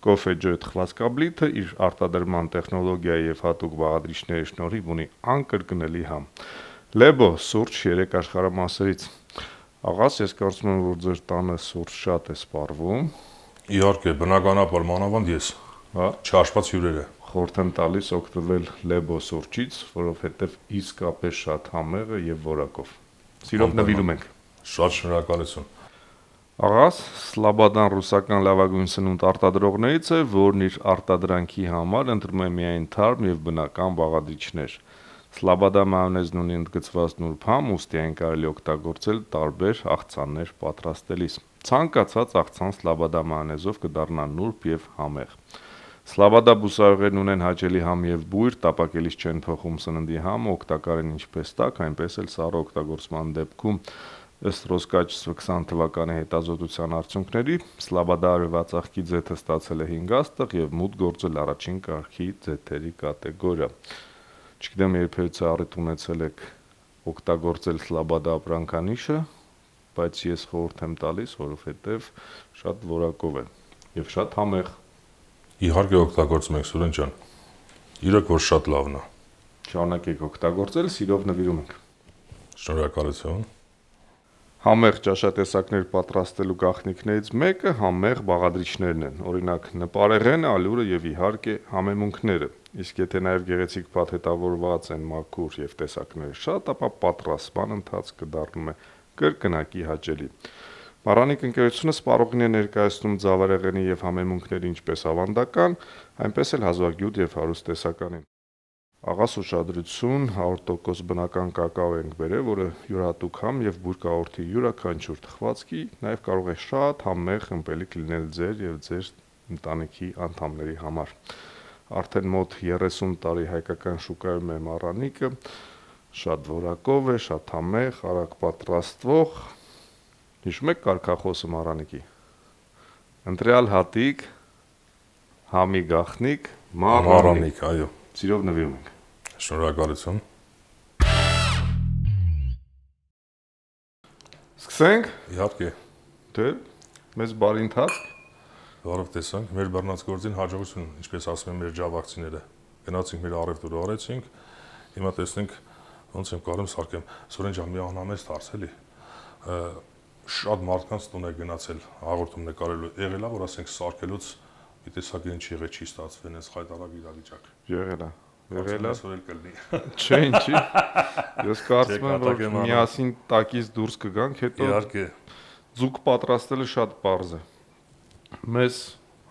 Coffee Joy թխվածքաբլիթը իր արտադրման տեխնոլոգիայի եւ հատուկ բաղադրիչների շնորհիվ ունի անկրկնելի համ։ Lebo սուրճ 3 աշխարհամասերից։ Աղաս, ես կարծում եմ, որ ձեր տանը սուրճ շատ է սպառվում։ Իհարկե, բնականաբար մանավանդ ես, հա, չհաշված հյուրերը։ Խորհուրդ եմ տալիս օգտվել Lebo սուրճից, որովհետև իսկապես շատ համեղ է եւ որակով։ Սիրով նվիրում ենք։ Շատ շնորհակալություն։ Աղաս, Slobodaan ռուսական լավագույն սնունդ արտադրողներից է, որն իր արտադրանքի համար ընտրում է միայն թարմ եւ բնական բաղադրիչներ։ Slobodaan մայոնեզն ունի ընդգծված նուրբ համ, ուստի այն կարելի օգտագործել տարբեր աղցաններ պատրաստելիս։ Ցանկացած աղցան Slobodaan մայոնեզով կդառնա նուրբ եւ համեղ։ Slobodaan բուսայուղերն ունեն հաճելի համ եւ բույր, տապակելիս չեն փոխում սննդի համը, օգտակար են ինչպես տաք, այնպես էլ սառը օգտագործման դեպքում։ Ըստ Ռոսկաչեստվը 20 թվականի հետազոտության արդյունքների, Slobodaan արևածաղկի ձեթը ստացել է 5 աստղ եւ մուտք գործել առաջին կարգի ձեթերի կատեգորիա։ Չգիտեմ, երբևէ առիթ ունեցել եք օգտագործել Slobodaan ապրանքանիշը, բայց ես խորհուրդ եմ տալիս, որովհետեւ շատ որակով է եւ շատ համեղ։ Իհարկե օգտագործում ենք, Սուրեն ջան։ Իրոք որ շատ լավն է։ Շարունակեք օգտագործել, սիրով նվիրում ենք։ Շնորհակալություն։ Համեղ ճաշատեսակներ պատրաստելու գաղտնիքներից մեկը համեղ բաղադրիչներն են, օրինակ նպարեղենը, ալյուրը եւ իհարկե համեմունքները։ Իսկ եթե նաեւ գեղեցիկ փաթեթավորված են մաքուր եւ տեսակները շատ, ապա պատրաստման ընթացքը դառնում է կրկնակի հաճելի։ Մարանիկ ընկերությունը սպառողին է ներկայացնում ձավարեղենի եւ համեմունքների ինչպես ավանդական, այնպես էլ հազվագյուտ եւ հարուստ տեսականին։ Աղաս ուշադրություն, 100% բնական կակաո ենք բերել, որը յուրահատուկ համ եւ բույր կաղորդի յուրաքանչյուր թխվածքի, նաեւ կարող է շատ համեղ ըմպելիք լինել ձեր եւ ձեր ընտանիքի անդամների համար։ Արդեն մոտ 30 տարի հայկական շուկայում է Մարանիկը, շատ որակով է, շատ համեղ, արագ պատրաստվող։ Հիշում եք կարգախոսը Մարանիկի։ Ընտրյալ հատիկ, համի գաղտնիք, Մարանիկ, այո։ Սիրով նվիրում ենք։ Շնորհակալություն։ Սկսենք։ Իհարկե։ Դե, մեզ բարի ընթացք։ Բարով տեսանք, մեր բռնած գործին հաջողություն, ինչպես ասում են մեր ջավախցիները։ Գնացինք մեր առևտուրը արեցինք, հիմա տեսնենք ոնց եմ կարում սարքեմ։ Սուրեն ջան, մի ահնամես դարձելի։ Շատ մարդկանց տուն է գնացել հաղորդում նկարելու։ Եղել է, որ ասենք սարքելուց մի տեսակ ինչ եղե չի ստացվել, այս խայտարակ իրավիճակ։ Եղել է։ Եղել է։ Սորել կլինի։ Չէ, ինչի։ Ես կարծում եմ, որ միասին տակից դուրս կգանք, հետո Իհարկե։ ձուկ պատրաստելը շատ պարզ է։ Մեզ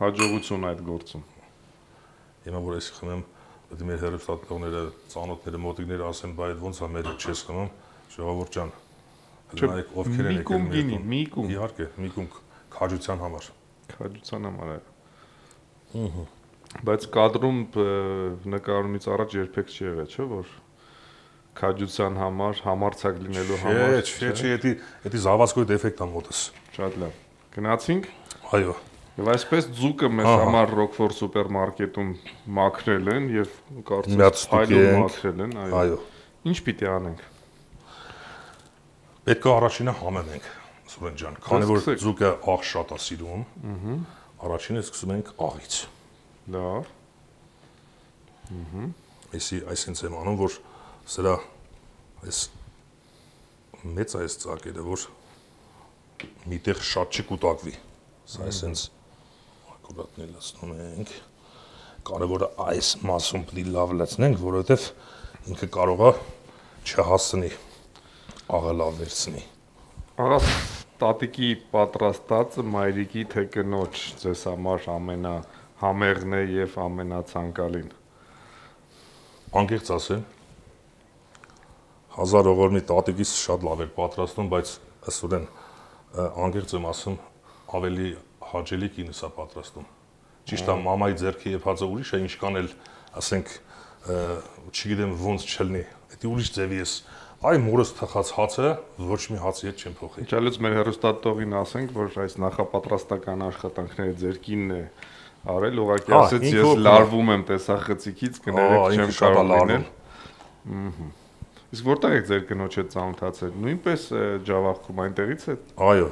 հաջողություն այդ գործում։ Հիմա որ ես խմեմ, պետք է մեր հերոստատողները, ծանոթները, մոտիկները ասեն, բայ ոնց է մեր չես խմում, ժողովուրդ ջան։ Նայեք ովքեր են եկել մեր տուն։ Միկում։ Իհարկե, միկում քաջության համար։ Քաջության համար է։ Բայց կադրում նկարումից առաջ երբեք չի եղել, չէ՞ որ քաջության համար, համարցակ լինելու համար։ Չէ, էդի զավացքոյ դեֆեկտ է մոտս։ Շատ լավ։ Գնացինք։ Այո։ Եվ այսպես ձուկը մեզ համար Rockford սուպերմարկետում մաքրել են եւ կարծում եմ հայլով մաքրել են, այո։ Ինչ պիտի անենք։ Պետք է առաջինը համեմենք, Սուրեն ջան, քանի որ ձուկը աղ շատ է սիրում։ Առաջինը սկսում ենք աղից։ Լավ։ Այսինքն եմ անում, որ սրա այս մեծ այս ծակերը, որ միտեղ շատ չկուտակվի։ Սա այսինքն ակուրատնի լցնում ենք։ Կարևորը այս մասում պիտի լավ լցնենք, որովհետև ինքը կարող է չհասցնի, աղը լավ վերցնի։ Աղաս տատիկի պատրաստածը մայրիկի թե կնոջ ձեզ համար ամենահամեղն է եւ ամենացանկալին։ անկեղծ ասեմ, 1000 ողորմի տատիկից շատ լավ էր պատրաստում, բայց ըստորեն անկեղծ եմ ասում, ավելի հաճելի կինս է պատրաստում։ Ճիշտ է, մամայի ձեռքի եփածը ուրիշ է, ինչքան էլ ասենք, չգիտեմ ոնց չլինի, դա ուրիշ ձևի է։ Այ մորս թխած հացը ոչ մի հացի հետ չեմ փոխի։ Իչալից մեր հերոստատողին ասենք, որ այս նախապատրաստական աշխատանքները ձեր կինն է արել, ուղղակի ասեց ես լարվում եմ տեսախցիկից, կներեք չեմ կարող լինել։ Իսկ որտեղ եք ձեր կնոջ հետ ծանոթացել։ Նույնպես Ջավախքում այնտեղից է։ Այո,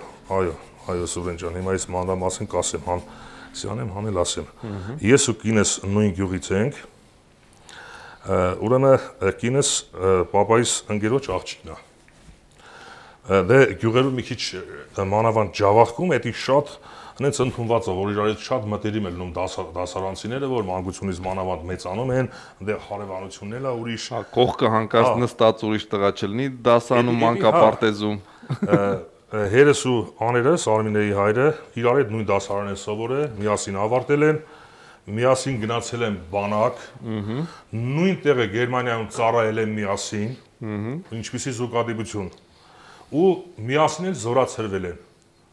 Սուրեն ջան, հիմա այս մանրամասն կասեմ, սյանեմ հանել ասեմ։ Ես ու կինս նույն գյուղից ենք։ Ուրեմն կինս պապայիս ընկերոջ աղջիկն է։ Դե գյուղերում մի քիչ մանավանդ Ջավախքում էդի շատ հենց ընդունված է, որ իրար հետ շատ մտերիմ են լինում դասարանցիները, որ մանկությունից մանավանդ մեծանում են, դե հարևանությունն էլ է ուրիշ։ Կողքը հանկարծ նստած ուրիշ տղա չլինի, դասանում մանկապարտեզում։ Հերս ու աներս, Արմինեի հայրը, իրար հետ նույն դասարան են սովորել, միասին ավարտել են, միասին գնացել են բանակ, նույն տեղը Գերմանիայում ծառայել են միասին, ինչպիսի զուգադիպություն, ու միասին էլ զորացրվել են։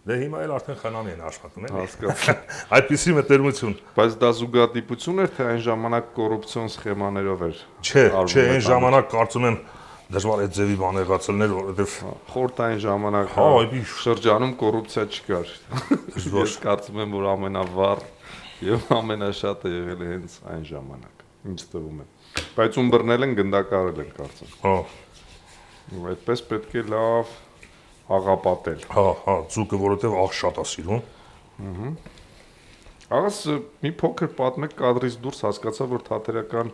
Դե հիմա էլ արդեն խնամի են աշխատում, էլի։ Հասկացա։ Այդպիսի մտերմություն։ Բայց դա զուգադիպություն էր, թե այն ժամանակ կոռուպցիոն սխեմաներով էր։ Չէ, այն ժամանակ կարծում եմ դժվար է ձևի բան եղածելներ, որովհետև խորհրդային ժամանակ շրջանում կոռուպցիա չկար։ Ես կարծում եմ, որ ամենավառ եւ ամենաշատը եղել է հենց այն ժամանակ։ Ինչ թվում է։ Բայց ում բռնել են գնդակարել են կարծում։ Ու այդպես պետք է լավ աղապատել։ Ձուկը որովհետև աղ շատ է սիրում։ Աղաս մի փոքր պատմեք կադրից դուրս հասկացա, որ թատերական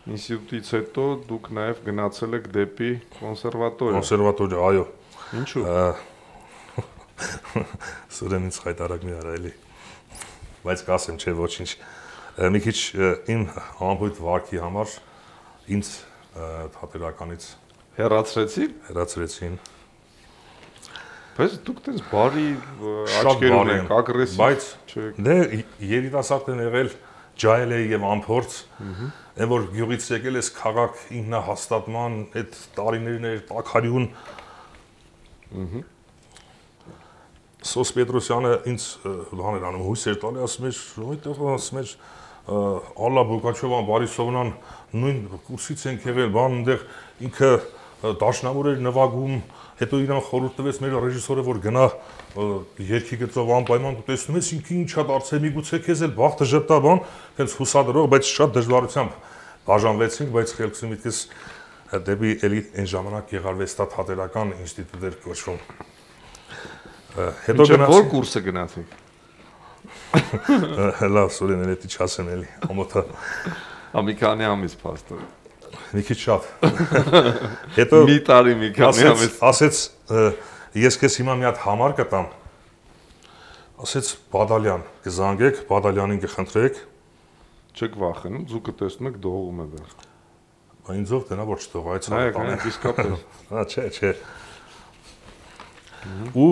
ինստիտուտից հետո դուք նաև գնացել եք դեպի կոնսերվատորիա։ Կոնսերվատորիա, այո։ Ինչու։ Սուրենից խայտարակ մի արա էլի։ Բայց կասեմ, չէ, ոչինչ։ Մի քիչ իմ համբույթ վարքի համար ինձ թատերականից հեռացրեցին։ Բայց դուք տես բարի աչքեր ունեք, ագրեսիվ, բայց դե երիտասարդ են եղել, ջահել է եւ անփորձ, այն որ գյուղից եկել ես քաղաք ինքնահաստատման այդ տարիներն էր տաքարյուն։ Սոս Պետրոսյանը ինձ բան էր անում, հույս էր տալի, ասում էր, այդտեղ ասում էր Ալլա Բոկաչովան, Բարիսովնան նույն կուրսից ենք եղել, բան այնտեղ ինքը դաշնամուր էր նվագում, հետո իրան խորհուրդ տվեց մեր ռեժիսորը, որ գնա երգի գծով անպայման դու տեսնում ես ինքը ինչա դարձել, միգուցե քեզ էլ բախտը ժպտա բան, հենց հուսադրող, բայց շատ դժվարությամբ բաժանվեցինք, բայց խելքս միտքս դեպի էլի այն ժամանակ Գեղարվեստա թատերական ինստիտուտ էր կոչվում։ Հետո գնացի։ Որ կուրսը գնացիք։ Լավ, Սուրեն, էլի չասեմ էլի, ամոթա։ Մի քանի ամիս փաստոր։ Մի քիչ շատ։ Հետո մի տարի մի քանի ամիս ասեց ես քեզ հիմա մի հատ համար կտամ։ Ասեց Բադալյան, կզանգեք, Բադալյանին կխնդրեք։ Չեք վախենում, ձուկը տեսնում եք դողում է դեռ։ Բա ինձ ով տնա որ չթող այդ տանը իսկապես։ Չէ։ Ու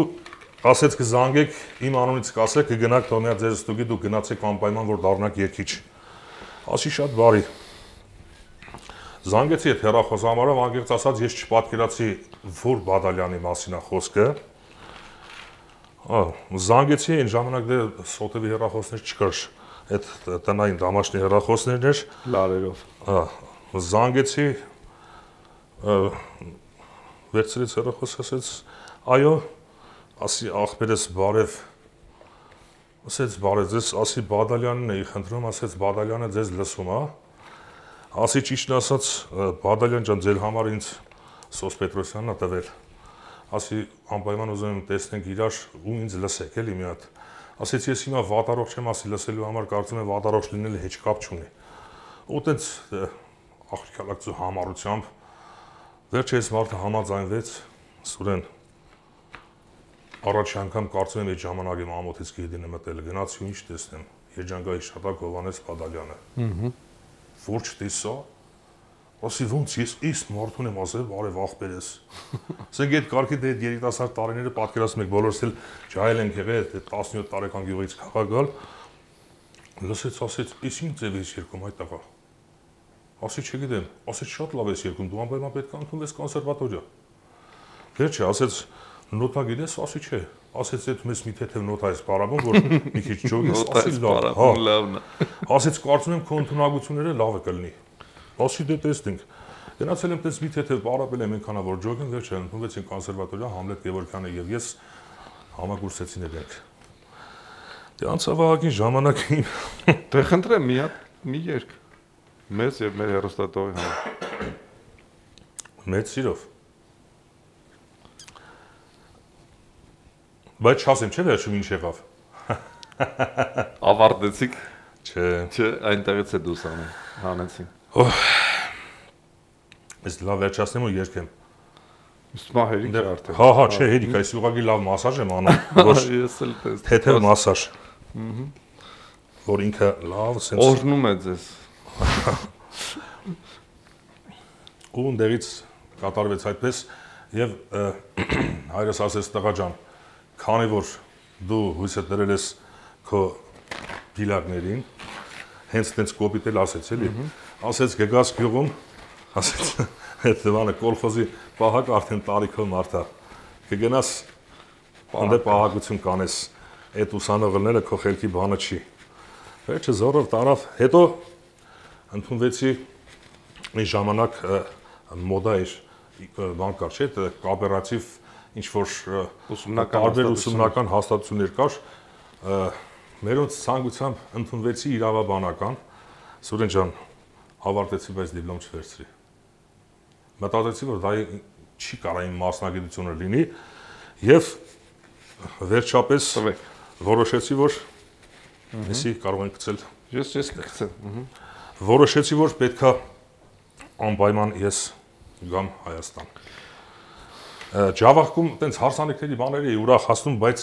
ասեց կզանգեք, իմ անունից կասեք, կգնաք թողնա ձեր ստուգի, դուք գնացեք անպայման որ դառնաք երգիչ։ Ասի շատ բարի։ Զանգեցի այդ հեռախոսահամարով, անկեղծ ասած ես չպատկերացի որ Բադալյանի մասին է խոսքը։ Զանգեցի այն ժամանակ դե սոտևի հեռախոսներ չկար, այդ տնային դամաշնի հեռախոսներն էր լարերով։ Զանգեցի վերցրեց հեռախոս, ասեց այո, ասի ախպերս բարև, ասեց բարև, ձեզ ասի Բադալյանն էի խնդրում, ասեց Բադալյանը ձեզ լսում է։ Ասի ճիշտն ասած Բադալյան ջան ձեր համար ինձ Սոս Պետրոսյանն է տվել։ Ասի անպայման ուզում եմ տեսնենք իրար ու ինձ լսեք էլի մի հատ։ Ասեց ես հիմա վատառող չեմ, ասի լսելու համար կարծում եմ վատառող լինելը հեչ կապ չունի։ Ու տենց աղջիկալակցու համառությամբ վերջը այս մարդը համաձայնվեց, Սուրեն առաջի անգամ կարծում եմ այդ ժամանակ իմ ամոթից գեդին եմ մտել, գնացի ու ինչ տեսնեմ, Երջանկայի շտապ Հովհաննես Բադալյանը։ Որ չտեսա, ասի ոնց ես այս մարդուն եմ ասել, բարև աղբերես։ Ասենք այդ կարգի դե երիտասարդ տարիները պատկերացնում եք, բոլորս էլ ջահել ենք եղել, 17 տարեկան գյուղից քաղաք գալ։ Լսեց, ասեց, «Իս ինչ ձև ես երկում այդ տղա»։ ասի չգիտեմ, ասեց շատ լավ ես երգում, դու անպայման պետք է ընդունվես կոնսերվատորիա։ Վերջը ասեց նոտա գիտես, ասի չէ, ասեց այդ մեզ մի թեթև նոտա ես բարաբում, որ մի քիչ ջոգես, ասի լավն է։ Ասեց կարծում եմ քո ընդունակությունները լավը կլինի։ Ասի դե տեսնենք։ Գնացել եմ տես մի թեթև բարաբել եմ այնքանա որ ջոգեն, վերջը ընդունվեցին կոնսերվատորիա, Համլետ Գևորգյանը եւ ես համագործեցին իրենք։ Դե անցավահագին ժամանակին Դե խնդրեմ մի երգ մեզ եւ մեր հեռուստատողի համար։ Մեծ սիրով։ Բայց չասեմ, չէ՞ վերջում ինչ եղավ։ Ավարտեցիք։ Չէ, այնտեղից է դուրս հանեցին։ Ես լավ վերջացնեմ ու երգեմ։ Ուսմա հերիք է արդեն։ Հա, չէ, հերիք, այս ուղղակի լավ մասաժ եմ անում, ոչ ես էլ տեսա։ թեթև մասաժ։ Որ ինքը լավ սենց օրհնում է ձեզ։ Ու ընդերից կատարվեց այդպես եւ հայրս ասեց տղա ջան, քանի որ դու հույսը դրել ես քո դիլակներին, հենց տենց կոպիտ էլ ասեց էլի, ասեց գգաս գյուղում, ասեց այդ բանը կոլխոզի պահակ արդեն տարիքով մարդա, կգնաս անդե պահակություն կանես, այդ ուսանողները քո խելքի բանը չի։ Վերջը զորով տարավ, հետո ընդունվեցի մի ժամանակ մոդա էր բան կար, չէ՞, կոոպերատիվ ինչ-որ տարբեր ուսումնական հաստատություններ կար, մերոնց ցանկությամբ ընդունվեցի իրավաբանական, Սուրեն ջան, ավարտեցի, բայց դիպլոմ չվերցրի։ Մտածեցի, որ դա չի կարող իմ մասնագիտությունը լինի եւ վերջապես որոշեցի, որ Մեսի կարող ենք գցել։ Ես կգցեմ։ Որոշեցի, որ պետքա անպայման ես գամ Հայաստան։ Ջավախքում տենց հարսանիքների բաներ էի ուրախ հասնում, բայց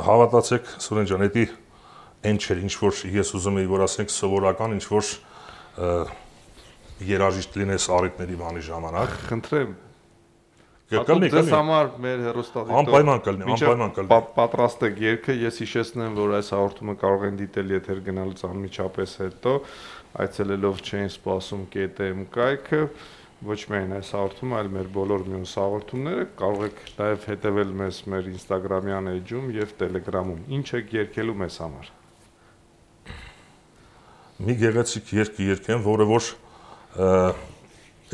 հավատացեք Սուրեն ջան, դա այն չէր, ինչ որ ես ուզում էի, որ ասենք սովորական ինչ որ երաժիշտ լինես առիթների բանի ժամանակ։ Խնդրեմ։ Կլինի։ Ձեզ համար մեր հեռուստադիտող անպայման կլինի։ Պատրաստ եք երգը, ես հիշեցնեմ, որ այս հաղորդումը կարող են դիտել եթեր գնալուց անմիջապես հետո, այցելելով Չէին սպասում .am կայքը, ոչ միայն այս հաղորդումը, այլ մեր բոլոր մյուս հաղորդումները, կարող եք նաև հետևել մեզ մեր Instagram-յան էջում եւ Telegram-ում։ Ինչ եք երգելու մեզ համար։ Մի գեղեցիկ երգ երգեմ, որը որ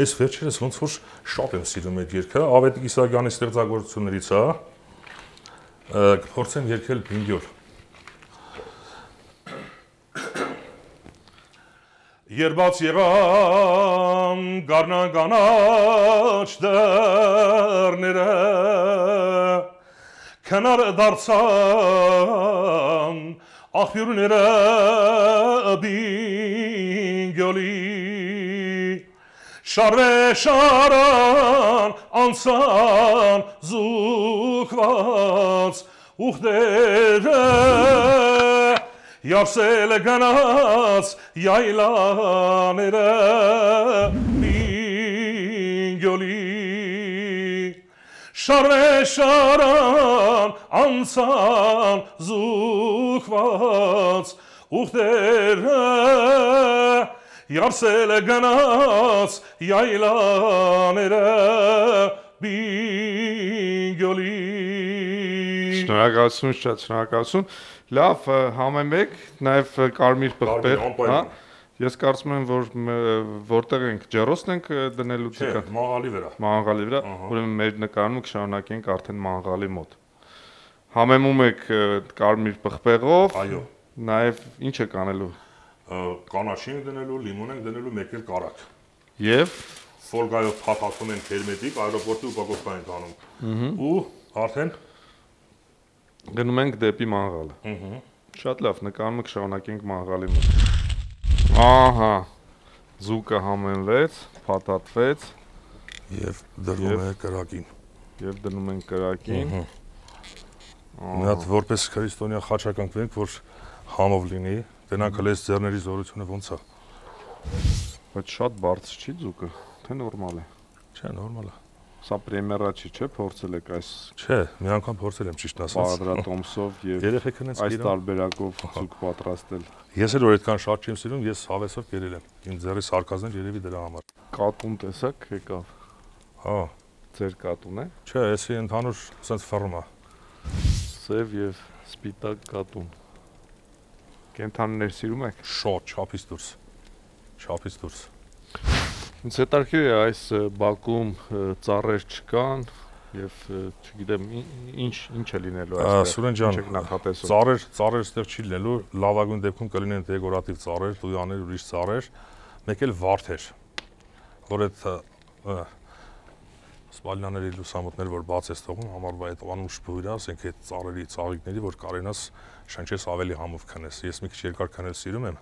այս վերջերս ոնց որ շատ եմ սիրում այդ երգը, Ավետ Իսահակյանի ստեղծագործություններից է, կփորձեմ երգել Բինգյոլ։ Երբաց եղան գարնան կանաչ դռները, քնար դարձան աղբյուրները Բինգյոլի, շարվե շարան անցան զուգված ուխտերը, Յարսել գնաց յայլաները Բինգյոլի, շարվե շարան անցան զուգված ուխտերը, Յարսել գնաց յայլաները Բինգյոլի։ Շնորհակալություն, շատ շնորհակալություն։ Լավ, համեմեք, նաև կարմիր պղպեղ, հա։ Ես կարծում եմ, որ որտեղ ենք, ջեռոստ ենք դնելու Չէ, մաղալի վրա։ Մաղալի վրա, ուրեմն մեր նկարումը կշարունակենք արդեն մաղալի մոտ։ Համեմում եք կարմիր պղպեղով, Այո։ նաև ինչ եք անելու։ Կանաչի ենք դնելու, լիմոն ենք դնելու, մեկ էլ կարակ։ Եվ ֆոլգայով փաթաթում ենք հերմետիկ, այրոպորտի ուպակովկա ենք անում։ Ու արդեն գնում ենք դեպի մաղալը։ Շատ լավ, նկարումը կշարունակենք մաղալի մոտ։ Ահա, զուկը համենվեց, փաթաթվեց եւ դնում ենք կրակին։ Եվ դնում ենք կրակին։ Մի հատ որպես քրիստոնյա խաչականք ենք, որ համով լինի, դրանք հենց ձեռների զորությունը ոնց է։ Բայց շատ բարձր չի զուկը, թե նորմալ է։ Չէ, նորմալ է։ Սա պրեմիերա չի, չէ՞, փորձել եք այս։ Չէ, մի անգամ փորձել եմ ճիշտ ասած։ Բաղդրատոմսով եւ այս տարբերակով ցուկ պատրաստել։ Ես էլ որ այդքան շատ չեմ սիրում, ես հավեսով կերել եմ։ Իմ ձեռի սարկազներ երևի դրա համար։ Կատուն տեսակ եկավ։ Հա, ձեր կատուն է։ Չէ, էսի ընդհանուր sense ֆռմ է։ Սև եւ սպիտակ կատուն։ Կենթանիներ սիրում եք։ Շատ չափից դուրս։ Չափից դուրս։ Ինձ հետաքրքիր է այս բակում ծառեր չկան եւ չգիտեմ ինչ է լինելու այստեղ։ Սուրեն ջան, ծառեր այստեղ չի լինելու, լավագույն դեպքում կլինեն դեկորատիվ ծառեր, տույաներ, ուրիշ ծառեր, մեկ էլ վարդեր, որ այդ սպալյանների լուսամուտներ, որ բաց ես թողում, համարվա այդ անուշ բույր է, ասենք այդ ծառերի ծաղիկների, որ կարենաս շնչես ավելի համով քնես։ Ես մի քիչ երկար քնել սիրում եմ,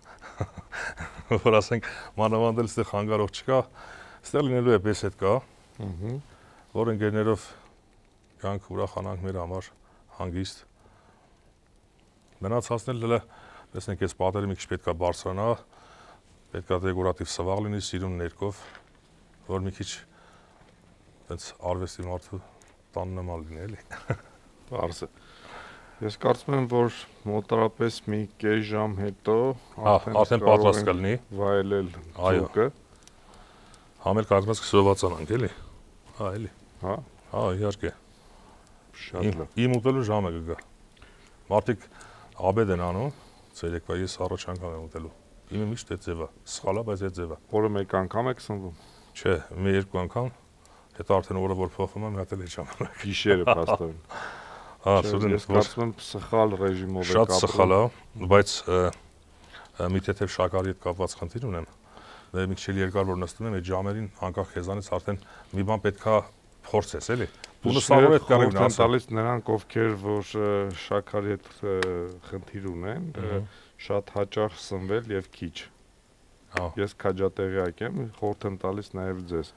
որ ասենք մանավանդել այստեղ խանգարող չկա, այստեղ լինելու է պես հետ կա, որ ընկերներով գանք ուրախանանք մեր համար հանգիստ։ Մնացածն էլ տեսնենք այս պատերը մի քիչ պետքա բարձրանա, պետքա դեկորատիվ սվաղ լինի սիրուն ներկով, որ մի քիչ այդպես արվեստի մարդու տան նման լինի էլի։ Բարձ է։ Ես կարծում եմ, որ մոտարապես մի կես ժամ հետո արդեն պատրաստ կլինի վայելել ձուկը։ Համել կազմած կսովացանանք էլի։ Հա, էլի։ Հա։ Հա, իհարկե։ Շատ լավ։ Իմ ուտելու ժամը կգա։ Մարդիկ աբեդ են անում, ցերեկվա ես առաջ անգամ եմ ուտելու։ Իմը միշտ այդ ձևը, սխալ է, բայց այդ ձևը։ Օրը մեկ անգամ եք սնվում։ Չէ, մի երկու անգամ, հետո արդեն օրը որ փոխվում եմ, հատ էլ այդ ժամանակ։ Գիշերը փաստորեն։ Հա, սուրեն ես կարծում եմ սխալ ռեժիմով եք ապրում։ Շատ սխալ է, բայց մի թեթև շաքարի հետ կապված խնդիր ունեմ։ Դե մի քիչ երկար որ նստում եմ, այդ ժամերին անկախ քեզանից արդեն մի բան պետքա փորձես, էլի։ Բունը սավոր հետ կարելի է տալիս նրանք, ովքեր որ շաքարի հետ խնդիր ունեն, շատ հաճախ սնվել եւ քիչ։ Ես քաջատեղյակ եմ, խորհուրդ եմ տալիս նաեւ ձեզ։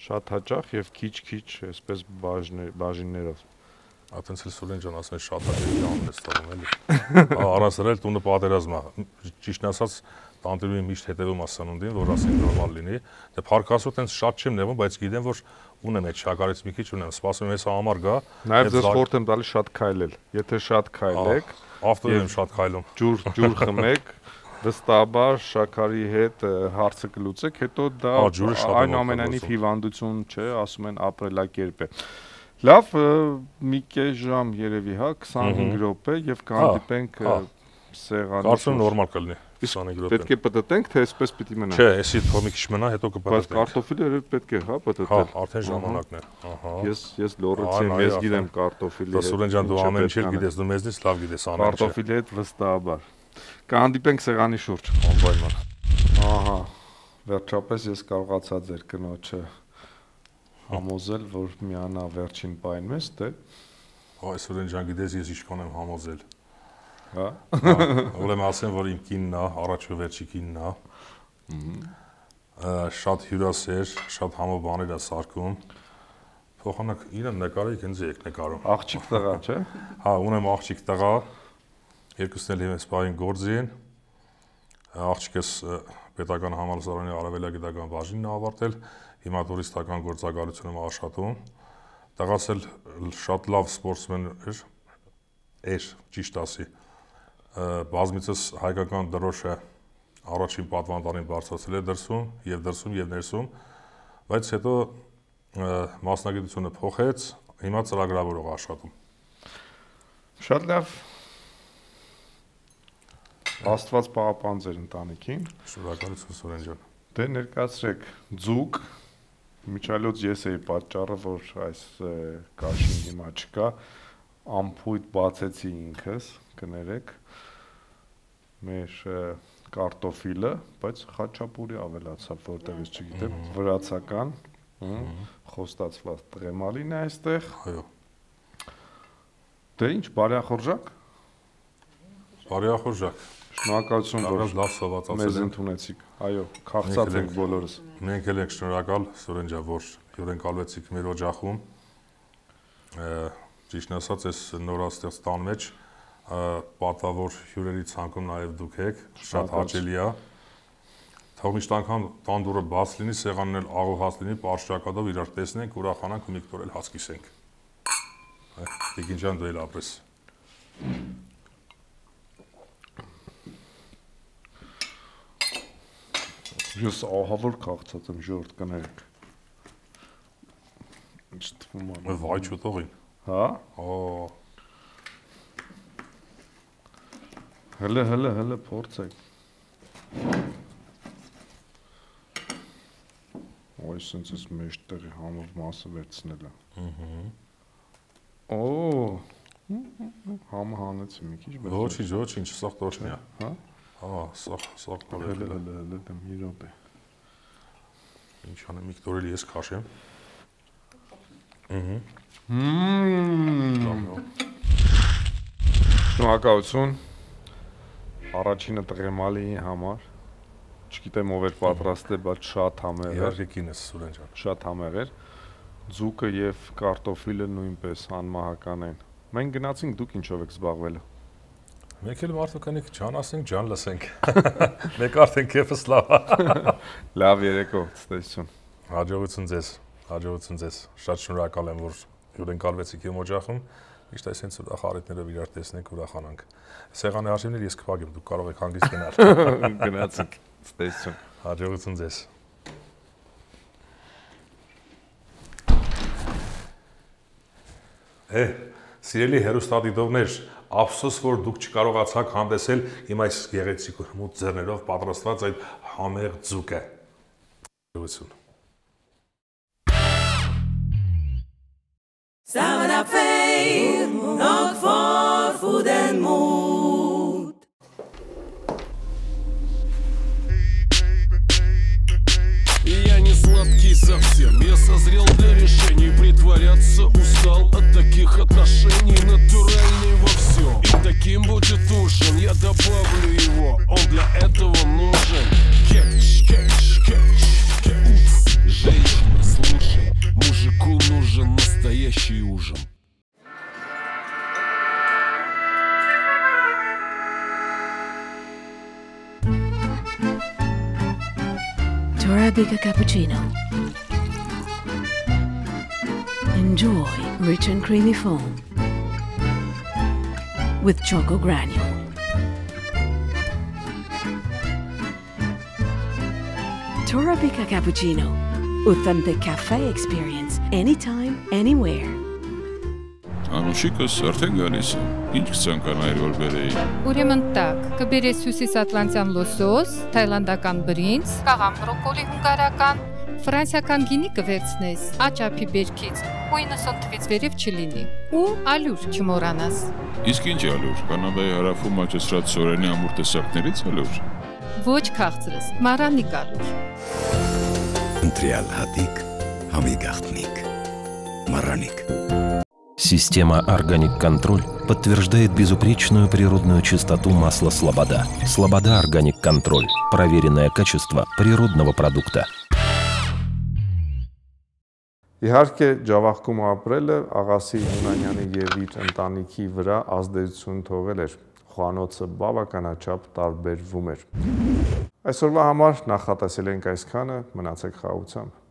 Շատ հաճախ եւ քիչ-քիչ, այսպես բաժիններով։ Այդպես էլ Սուրեն ջան ասում է շատ հաճախ ժամն է ստանում, էլի։ Առանց դրա էլ տունը պատերազմ է։ Ճիշտ ասած տանտիրուի միշտ հետևում ասանունդին, որ ասենք նորմալ լինի։ Դե փառքասու տենց շատ չեմ նեղում, բայց գիտեմ, որ ունեմ այդ շաքարից մի քիչ ունեմ, սպասում եմ հեսա համար գա։ Նաև ձեզ խորհուրդ եմ տալիս շատ քայլել։ Եթե շատ քայլեք, ավտոյով եմ շատ քայլում։ Ջուր խմեք, վստահաբար շաքարի հետ հարցը կլուծեք, հետո դա այնուամենայնիվ հիվանդություն չէ, ասում են ապրելակերպ է։ Լավ, մի կես ժամ երևի, հա, 25 րոպե եւ կհանդիպենք սեղանի։ Կարծում նորմալ կլինի 25 րոպե։ Պետք է պտտենք, թե այսպես պիտի մնա։ Չէ, էսի թող մի քիչ մնա, հետո կպտտենք։ Բայց կարտոֆիլը պետք է, հա, պտտել։ Հա, արդեն ժամանակն է։ Ահա։ Ես լոռեցի եմ, ես գիտեմ կարտոֆիլի։ Սուրեն ջան, դու ամեն ինչ գիտես, դու մեզնից լավ գիտես անել։ Կարտոֆիլի հետ վստահաբար։ Կհանդիպենք սեղանի շուրջ, անպայման։ Ահա, վերջապես ես կարողացա ձեր կնոջը համոզել, որ միանա վերջին պայն մեզ, թե։ Այ Սուրեն ջան, գիտես ես ինչքան եմ համոզել։ Հա։ Ուրեմն ասեմ, որ իմ կինն է, առաջ ու վերջի կինն է։ Շատ հյուրասեր, շատ համով բաներ է սարքում։ Փոխանակ իրեն նկարեք, ինձ եք նկարում։ Աղջիկ տղա, չէ։ Հա, ունեմ աղջիկ տղա։ Երկուսն էլ ես պահին գործի են։ Աղջիկս պետական համալսարանի արևելագիտական բաժինն է ավարտել, հիմա տուրիստական գործակալություն եմ աշխատում։ Տղաս էլ շատ լավ սպորտսմեն էր, ճիշտ ասի։ Բազմիցս հայկական դրոշը առաջին պատվանդանին բարձրացել է դրսում եւ ներսում, բայց հետո մասնագիտությունը փոխեց, հիմա ծրագրավորող աշխատում։ Շատ լավ։ Աստված պահապան ձեր ընտանիքին։ Շնորհակալություն Սուրեն ջան։ Դե ներկայացրեք ձուկ, միջալոց ես էի պատճառը, որ այս կաշին հիմա չկա, ամփույթ բացեցի ինքս, կներեք, մեր կարտոֆիլը, բայց խաչապուրի ավելացավ, որտեղից չգիտեմ, վրացական, խոստացված տրեմալին է այստեղ։ Այո։ Դե ինչ, բարեախորժակ։ Բարեախորժակ։ Շնորհակալություն, որ լավ սովածացել մեզ ընդունեցիք։ Այո, քաղցած ենք բոլորս։ Մենք էլ ենք շնորհակալ Սուրեն ջան, որ հյուրընկալվեցիք մեր օջախում։ Ճիշտն ասած, այս նորաստեղծ տան մեջ պատվավոր հյուրերի ցանկում նաև դուք եք, շատ հաճելի է։ Թող միշտ անգամ տանդուրը բաց լինի, սեղանն էլ աղոհած լինի, պարշակադով իրար տեսնենք, ուրախանանք ու մի կտոր էլ հաց կիսենք։ Տիկին ջան, դու էլ ապրես։ Ես ահավոր քաղցած եմ, ժողովուրդ կներեք։ Ինչ թվում է։ Վայ չուտողին։ Հա։ Հələ փորձեք։ Ոյ սենց էս մեջտեղի համով մասը վերցնել է։ Համը հանեցի մի քիչ, բայց Ոչինչ, սաղ տոշնի է։ Հա։ Սաղ տոր։ Հələ դեմ մի րոպե։ Ինչ անեմ, մի կտոր էլ ես քաշեմ։ Շնորհակալություն։ Առաջինը տղեմալիի համար։ Չգիտեմ ով էր պատրաստել, բայց շատ համեղ էր։ Իհարկե կինս Սուրեն ջան։ Շատ համեղ էր։ Ձուկը եւ կարտոֆիլը նույնպես անմահական են։ Մենք գնացինք, դուք ինչով եք զբաղվել։ Մենք էլ մարդու կանենք ջան ասենք, ջան լսենք։ Մեկ արդեն քեֆս լավ։ Լավ երեկո, ցտեսություն։ Հաջողություն ձեզ։ Շատ շնորհակալ եմ, որ հյուրընկալվեցիք իմ օջախում։ Միշտ այսպես ուրախ առիթներով իրար տեսնենք, ուրախանանք։ Սեղանի հաշիվներ ես կփակեմ, դուք կարող եք հանգիստ գնալ։ Գնացինք, ցտեսություն։ Հաջողություն ձեզ։ Սիրելի հերոստատիտողներ, ափսոս որ դուք չկարողացաք հանդեսել իմ այս գեղեցիկ ու հմուտ ձեռներով պատրաստված այդ համեղ ձուկը։ Հաջողություն։ Samana fame, not for food and mood. Я не сладкий совсем, я созрел для решений. Притворяться устал от таких отношений. Натуральный во всем, и таким будет ужин. Я добавлю его, он для этого нужен. Кетч. Женщина, слушай, мужику нужен настоящий ужин. Torabika cappuccino. Enjoy rich and creamy foam with choco granule. Torabika cappuccino. Authentic cafe experience anytime, anywhere. Անուշիկս արդեն գալիս է։ Ինչ կցանկանայր որ բերեի։ Ուրեմն տակ, կբերես հյուսիսատլանտյան լոսոս, թայլանդական բրինձ, կաղամ բրոկոլի հունգարական, ֆրանսիական գինի կվերցնես, աճափի բերքից, ու 90 թվից վերև չլինի, ու ալյուր չմոռանաս։ Իսկ ինչ ալյուր, Կանադայի հարավում աճեցրած սորենի ամուր տեսակներից ալյուր։ Ոչ քաղցրս, մարանի ալյուր։ Ընտրյալ հատիկ, համի գաղտնիք, Мараник. Система «Органик Контроль» подтверждает безупречную природную чистоту масла «Слобода». «Слобода Органик Контроль» – проверенное качество природного продукта. Իհարկե ջավախքում ապրելը աղասի Հունանյանի եւ իր ընտանիքի վրա ազդեցություն թողել էր։ Խոհանոցը բավականաչափ տարբերվում էր։ Այսօրվա համար նախատեսել ենք այսքանը, մնացեք խաղաղությամբ։